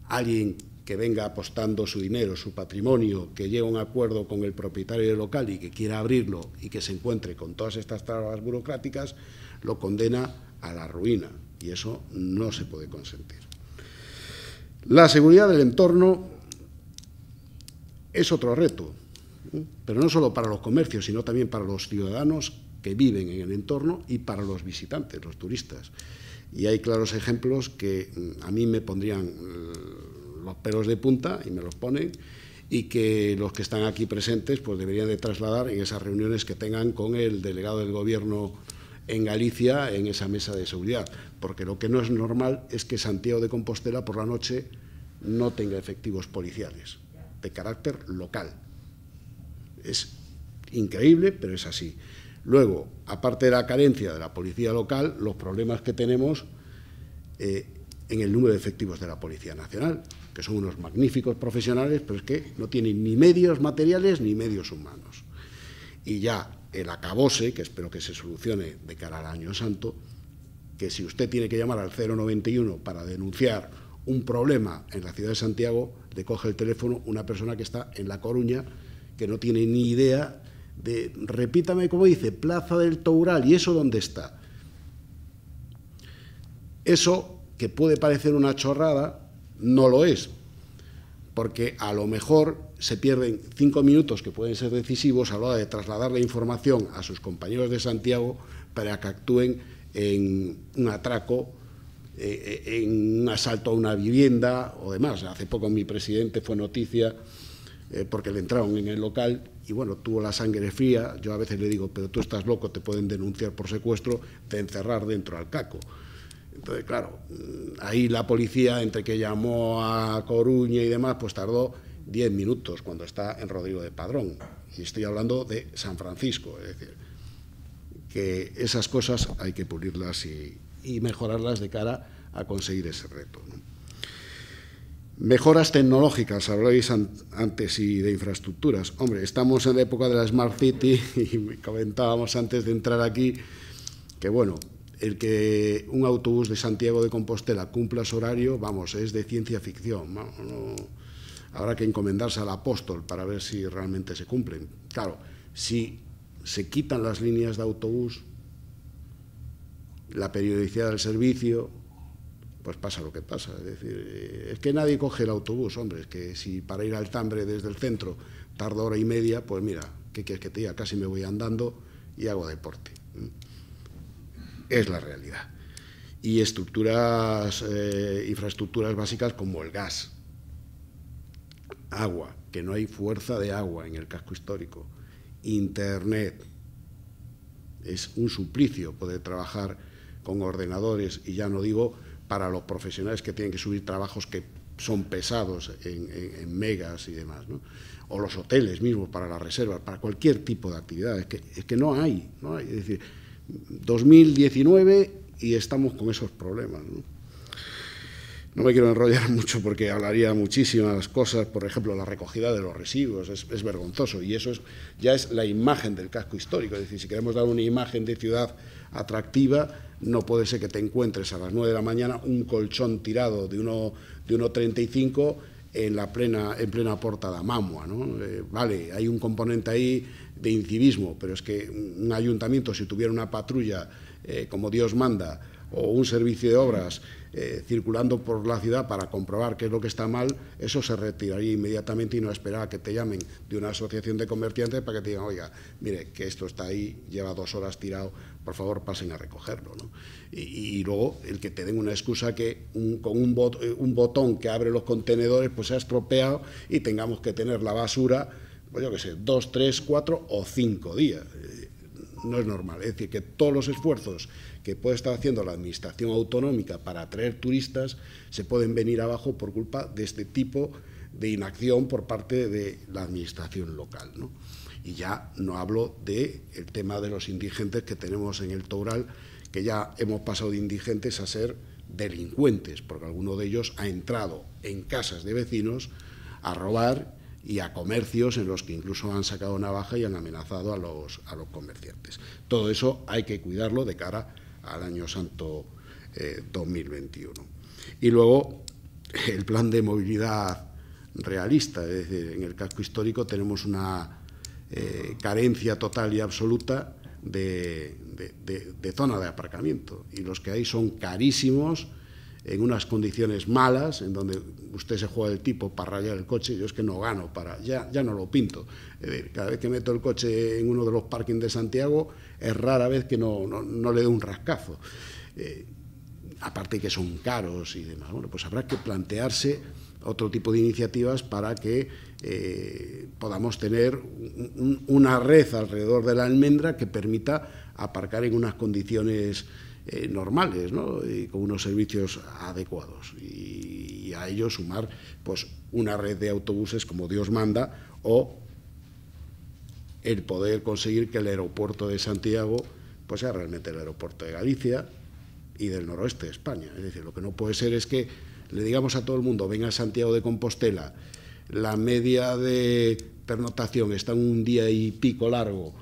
alguien que venga apostando su dinero, su patrimonio, que llegue a un acuerdo con el propietario del local y que quiera abrirlo y que se encuentre con todas estas trabas burocráticas, lo condena a la ruina, y eso no se puede consentir. La seguridad del entorno es otro reto. pero no solo para los comercios, sino también para los ciudadanos que viven en el entorno y para los visitantes, los turistas. Y hay claros ejemplos que a mí me pondrían los pelos de punta, y me los ponen, y que los que están aquí presentes pues deberían de trasladar en esas reuniones que tengan con el delegado del Gobierno en Galicia en esa mesa de seguridad, porque lo que no es normal es que Santiago de Compostela por la noche no tenga efectivos policiales de carácter local. Es increíble, pero es así. Luego, aparte de la carencia de la policía local, los problemas que tenemos eh, en el número de efectivos de la Policía Nacional, que son unos magníficos profesionales, pero es que no tienen ni medios materiales ni medios humanos. Y ya el acabose, que espero que se solucione de cara al Año Santo, que si usted tiene que llamar al cero noventa y uno para denunciar un problema en la ciudad de Santiago, le coge el teléfono una persona que está en La Coruña, que no tiene ni idea de, repítame cómo dice, Plaza del Toural, ¿y eso dónde está? Eso, que puede parecer una chorrada, no lo es, porque a lo mejor se pierden cinco minutos que pueden ser decisivos a la hora de trasladar la información a sus compañeros de Santiago para que actúen en un atraco, eh, en un asalto a una vivienda o demás. Hace poco mi presidente fue noticia eh, porque le entraron en el local y, bueno, tuvo la sangre fría. Yo a veces le digo, pero tú estás loco, te pueden denunciar por secuestro, de encerrar dentro al caco. Entonces, claro, ahí la policía, entre que llamó a Coruña y demás, pues tardó diez minutos cuando está en Rodrigo de Padrón. Y estoy hablando de San Francisco. Es decir, que esas cosas hay que pulirlas y, y mejorarlas de cara a conseguir ese reto, ¿no? Mejoras tecnológicas, habláis an antes, y de infraestructuras. Hombre, estamos en la época de la Smart City y comentábamos antes de entrar aquí que, bueno, el que un autobús de Santiago de Compostela cumpla su horario, vamos, es de ciencia ficción. No, no, habrá que encomendarse al apóstol para ver si realmente se cumplen. Claro, si se quitan las líneas de autobús, la periodicidad del servicio, pues pasa lo que pasa. Es decir, es que nadie coge el autobús, hombre, es que si para ir al Tambre desde el centro tarda hora y media, pues mira, ¿qué quieres que te diga? Casi me voy andando y hago deporte. Es la realidad. Y estructuras, eh, infraestructuras básicas como el gas, agua, que no hay fuerza de agua en el casco histórico, internet. Es un suplicio poder trabajar con ordenadores, y ya no digo para los profesionales que tienen que subir trabajos que son pesados en, en, en megas y demás, ¿no? O los hoteles mismos para las reservas, para cualquier tipo de actividad. Es que, es que no hay, no hay. Es decir, dos mil diecinueve y estamos con esos problemas, ¿no? No me quiero enrollar mucho porque hablaría muchísimas cosas, por ejemplo, la recogida de los residuos, es, es vergonzoso, y eso es, ya es la imagen del casco histórico. Es decir, si queremos dar una imagen de ciudad atractiva, no puede ser que te encuentres a las nueve de la mañana un colchón tirado de uno de uno treinta y cinco en la plena en plena Porta da Mamua, ¿no? Eh, vale, hay un componente ahí de incivismo, pero es que un ayuntamiento, si tuviera una patrulla eh, como Dios manda, o un servicio de obras eh, circulando por la ciudad para comprobar qué es lo que está mal, eso se retiraría inmediatamente y no esperar a que te llamen de una asociación de comerciantes para que te digan, oiga, mire, que esto está ahí, lleva dos horas tirado, por favor pasen a recogerlo, ¿no? Y, y luego el que te den una excusa que un, con un, bot, un botón que abre los contenedores pues se ha estropeado y tengamos que tener la basura, pues yo qué sé, dos, tres, cuatro o cinco días. No es normal. Es decir, que todos los esfuerzos que puede estar haciendo la Administración autonómica para atraer turistas se pueden venir abajo por culpa de este tipo de inacción por parte de la Administración local, ¿no? Y ya no hablo del tema de los indigentes que tenemos en el Toural, que ya hemos pasado de indigentes a ser delincuentes, porque alguno de ellos ha entrado en casas de vecinos a robar, y a comercios en los que incluso han sacado navaja y han amenazado a los, a los comerciantes. Todo eso hay que cuidarlo de cara al Año Santo eh, dos mil veintiuno. Y luego el plan de movilidad realista, es decir, en el casco histórico tenemos una eh, carencia total y absoluta de, de, de, de zona de aparcamiento, y los que hay son carísimos, en unas condiciones malas, en donde usted se juega el tipo para rayar el coche, yo es que no gano, para ya, ya no lo pinto. Es decir, cada vez que meto el coche en uno de los parkings de Santiago, es rara vez que no, no, no le dé un rascazo. Eh, aparte que son caros y demás. Bueno, pues habrá que plantearse otro tipo de iniciativas para que eh, podamos tener un, una red alrededor de la almendra que permita aparcar en unas condiciones eh, normales, ¿no? Y con unos servicios adecuados, y, y a ello sumar pues una red de autobuses como Dios manda, o el poder conseguir que el aeropuerto de Santiago pues sea realmente el aeropuerto de Galicia y del noroeste de España. Es decir, lo que no puede ser es que le digamos a todo el mundo: venga a Santiago de Compostela, la media de pernoctación está en un día y pico largo,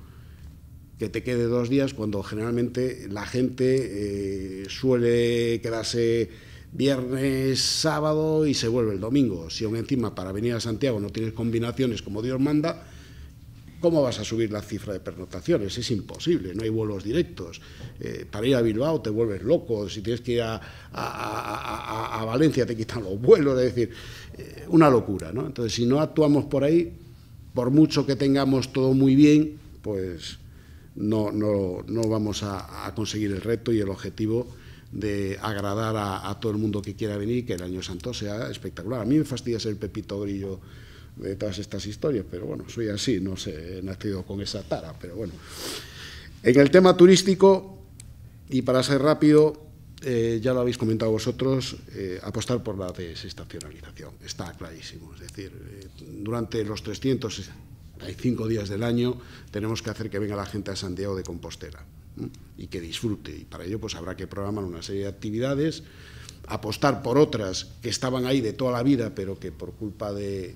que te quede dos días, cuando generalmente la gente eh, suele quedarse viernes, sábado y se vuelve el domingo. Si aún encima para venir a Santiago no tienes combinaciones como Dios manda, ¿cómo vas a subir la cifra de pernoctaciones? Es imposible, no hay vuelos directos. Eh, para ir a Bilbao te vuelves loco, si tienes que ir a, a, a, a Valencia te quitan los vuelos, es decir, eh, una locura, ¿no? Entonces, si no actuamos por ahí, por mucho que tengamos todo muy bien, pues no, no, no vamos a, a conseguir el reto y el objetivo de agradar a, a todo el mundo que quiera venir y que el Año Santo sea espectacular. A mí me fastidia ser el Pepito Grillo de todas estas historias, pero bueno, soy así, no sé, he nacido con esa tara, pero bueno. En el tema turístico, y para ser rápido, eh, ya lo habéis comentado vosotros, eh, apostar por la desestacionalización, está clarísimo. Es decir, eh, durante los trescientos sesenta y cinco días del año tenemos que hacer que venga la gente a Santiago de Compostela, ¿eh? Y que disfrute, y para ello pues habrá que programar una serie de actividades, apostar por otras que estaban ahí de toda la vida, pero que por culpa de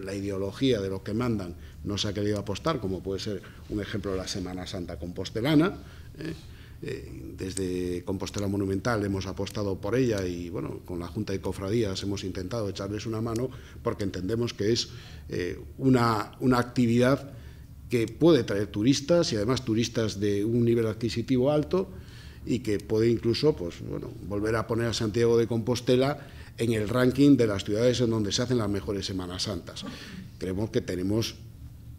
la ideología de lo que mandan no se ha querido apostar, como puede ser un ejemplo la Semana Santa compostelana. ¿eh? Eh, desde Compostela Monumental hemos apostado por ella y bueno, con la Junta de Cofradías hemos intentado echarles una mano, porque entendemos que es eh, una, una actividad que puede traer turistas, y además turistas de un nivel adquisitivo alto, y que puede incluso pues, bueno, volver a poner a Santiago de Compostela en el ranking de las ciudades en donde se hacen las mejores Semanas Santas. Creemos que tenemos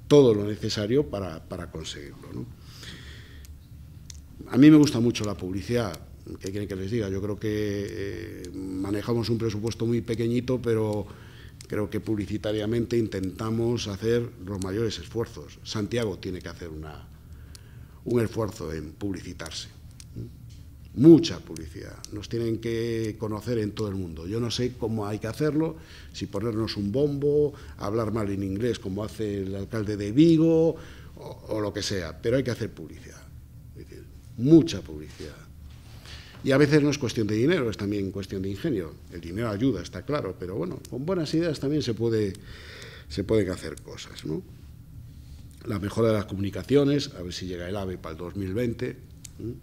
todo lo necesario para, para conseguirlo, ¿no? A mí me gusta mucho la publicidad, ¿qué quieren que les diga? Yo creo que eh, manejamos un presupuesto muy pequeñito, pero creo que publicitariamente intentamos hacer los mayores esfuerzos. Santiago tiene que hacer una, un esfuerzo en publicitarse. Mucha publicidad, nos tienen que conocer en todo el mundo. Yo no sé cómo hay que hacerlo, si ponernos un bombo, hablar mal en inglés como hace el alcalde de Vigo o, o lo que sea, pero hay que hacer publicidad, es decir, mucha publicidad. Y a veces no es cuestión de dinero, es también cuestión de ingenio. El dinero ayuda, está claro, pero bueno, con buenas ideas también se puede, se pueden hacer cosas, ¿no? La mejora de las comunicaciones, a ver si llega el AVE para el dos mil veinte, ¿eh?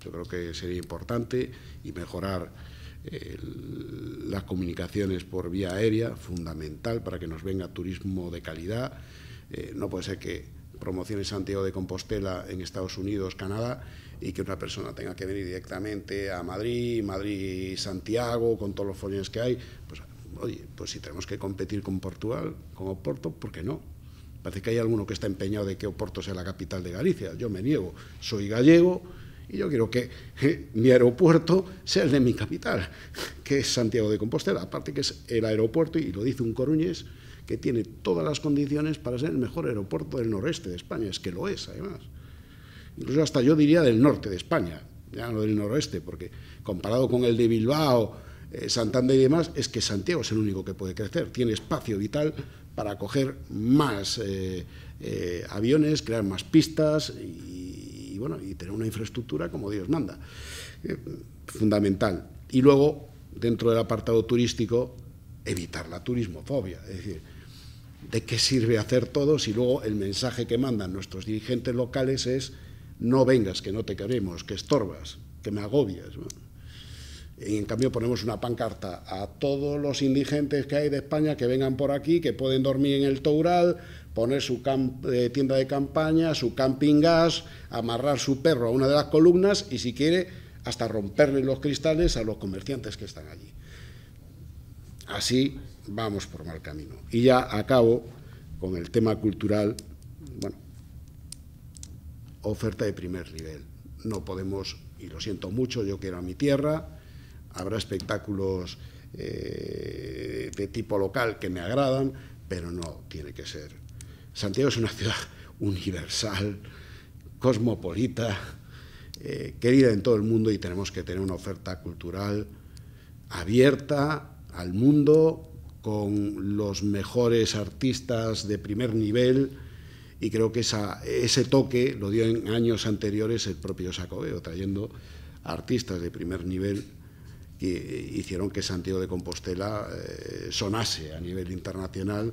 Yo creo que sería importante, y mejorar eh, las comunicaciones por vía aérea, fundamental para que nos venga turismo de calidad. Eh, no puede ser que promocione Santiago de Compostela en Estados Unidos, Canadá, y que una persona tenga que venir directamente a Madrid, Madrid-Santiago, con todos los follones que hay. Pues, oye, pues si tenemos que competir con Portugal, con Oporto, ¿por qué no? Parece que hay alguno que está empeñado de que Oporto sea la capital de Galicia. Yo me niego, soy gallego, y yo quiero que eh, mi aeropuerto sea el de mi capital, que es Santiago de Compostela. Aparte que es el aeropuerto, y lo dice un coruñés, que tiene todas las condiciones para ser el mejor aeropuerto del noreste de España. Es que lo es, además. Incluso hasta yo diría del norte de España, ya no del noroeste, porque comparado con el de Bilbao, eh, Santander y demás, es que Santiago es el único que puede crecer. Tiene espacio vital para acoger más eh, eh, aviones, crear más pistas y y bueno, y tener una infraestructura como Dios manda, eh, fundamental. Y luego, dentro del apartado turístico, evitar la turismofobia, es decir, ¿de qué sirve hacer todo si luego el mensaje que mandan nuestros dirigentes locales es: no vengas, que no te queremos, que estorbas, que me agobias, ¿no? Y en cambio ponemos una pancarta a todos los indigentes que hay de España que vengan por aquí, que pueden dormir en el Toural, poner su eh, tienda de campaña, su camping gas, amarrar su perro a una de las columnas y, si quiere, hasta romperle los cristales a los comerciantes que están allí. Así vamos por mal camino. Y ya acabo con el tema cultural. Bueno, oferta de primer nivel. No podemos, y lo siento mucho, yo quiero a mi tierra, habrá espectáculos eh, de tipo local que me agradan, pero no tiene que ser. Santiago es una ciudad universal, cosmopolita, eh, querida en todo el mundo, y tenemos que tener una oferta cultural abierta al mundo, con los mejores artistas de primer nivel, y creo que esa, ese toque lo dio en años anteriores el propio Xacobeo, trayendo artistas de primer nivel que hicieron que Santiago de Compostela eh, sonase a nivel internacional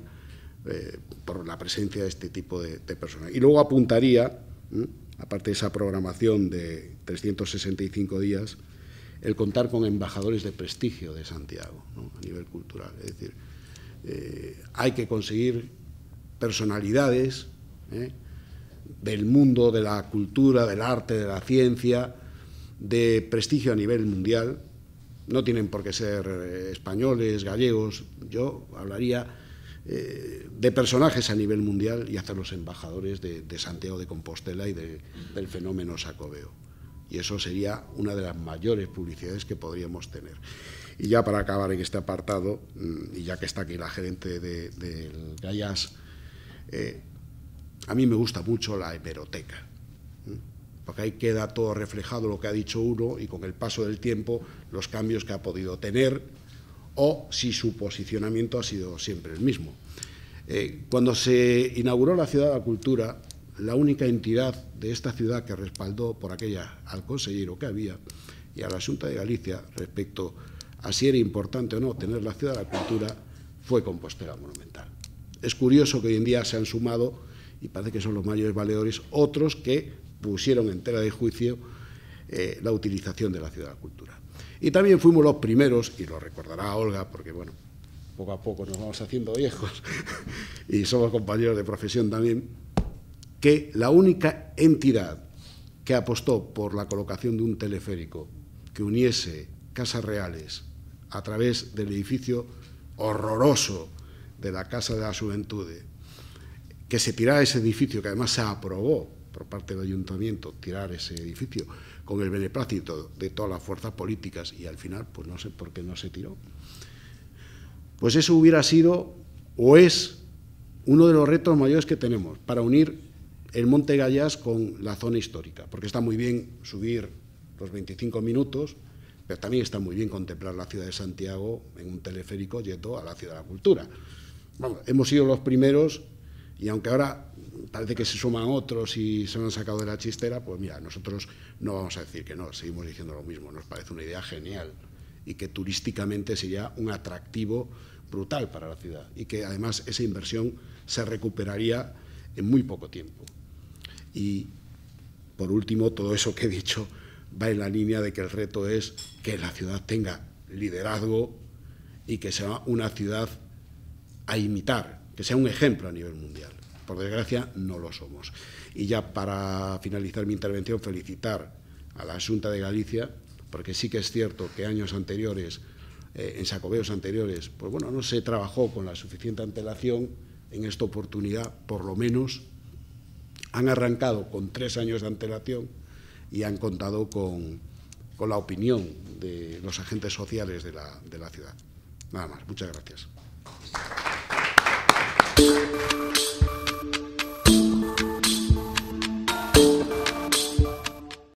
eh, por la presencia de este tipo de, de personas. Y luego apuntaría, ¿eh? aparte de esa programación de trescientos sesenta y cinco días, el contar con embajadores de prestigio de Santiago, ¿no? A nivel cultural. Es decir, eh, hay que conseguir personalidades ¿eh? del mundo de la cultura, del arte, de la ciencia, de prestigio a nivel mundial. No tienen por qué ser eh, españoles, gallegos. Yo hablaría eh, de personajes a nivel mundial y hacerlos embajadores de, de Santiago de Compostela y de, del fenómeno Xacobeo. Y eso sería una de las mayores publicidades que podríamos tener. Y ya para acabar en este apartado, y ya que está aquí la gerente de, del Gaiás, eh, a mí me gusta mucho la hemeroteca, ¿eh? porque ahí queda todo reflejado lo que ha dicho uno y con el paso del tiempo los cambios que ha podido tener o si su posicionamiento ha sido siempre el mismo. Eh, cuando se inauguró la Ciudad de la Cultura, la única entidad de esta ciudad que respaldó por aquella al consejero que había y a la Xunta de Galicia respecto a si era importante o no tener la Ciudad de la Cultura fue Compostela Monumental. Es curioso que hoy en día se han sumado, y parece que son los mayores valedores, otros que pusieron en tela de juicio eh, la utilización de la Ciudad de la Cultura. Y también fuimos los primeros, y lo recordará Olga, porque bueno, poco a poco nos vamos haciendo viejos y somos compañeros de profesión también, que la única entidad que apostó por la colocación de un teleférico que uniese Casas Reales a través del edificio horroroso de la Casa de la Xuventude, que se tirara ese edificio, que además se aprobó por parte del Ayuntamiento tirar ese edificio con el beneplácito de todas las fuerzas políticas, y al final, pues no sé por qué no se tiró. Pues eso hubiera sido, o es, uno de los retos mayores que tenemos para unir el Monte Gaiás con la zona histórica, porque está muy bien subir los veinticinco minutos, pero también está muy bien contemplar la ciudad de Santiago en un teleférico yendo a la Ciudad de la Cultura. Vamos, hemos sido los primeros, y aunque ahora parece que se suman otros y se lo han sacado de la chistera, pues mira, nosotros no vamos a decir que no, seguimos diciendo lo mismo, nos parece una idea genial y que turísticamente sería un atractivo brutal para la ciudad y que además esa inversión se recuperaría en muy poco tiempo. Y, por último, todo eso que he dicho va en la línea de que el reto es que la ciudad tenga liderazgo y que sea una ciudad a imitar, que sea un ejemplo a nivel mundial. Por desgracia, no lo somos. Y ya para finalizar mi intervención, felicitar a la Xunta de Galicia, porque sí que es cierto que años anteriores, eh, en Xacobeos anteriores, pues bueno, no se trabajó con la suficiente antelación. En esta oportunidad, por lo menos, han arrancado con tres años de antelación y han contado con, con la opinión de los agentes sociales de la, de la ciudad. Nada más. Muchas gracias.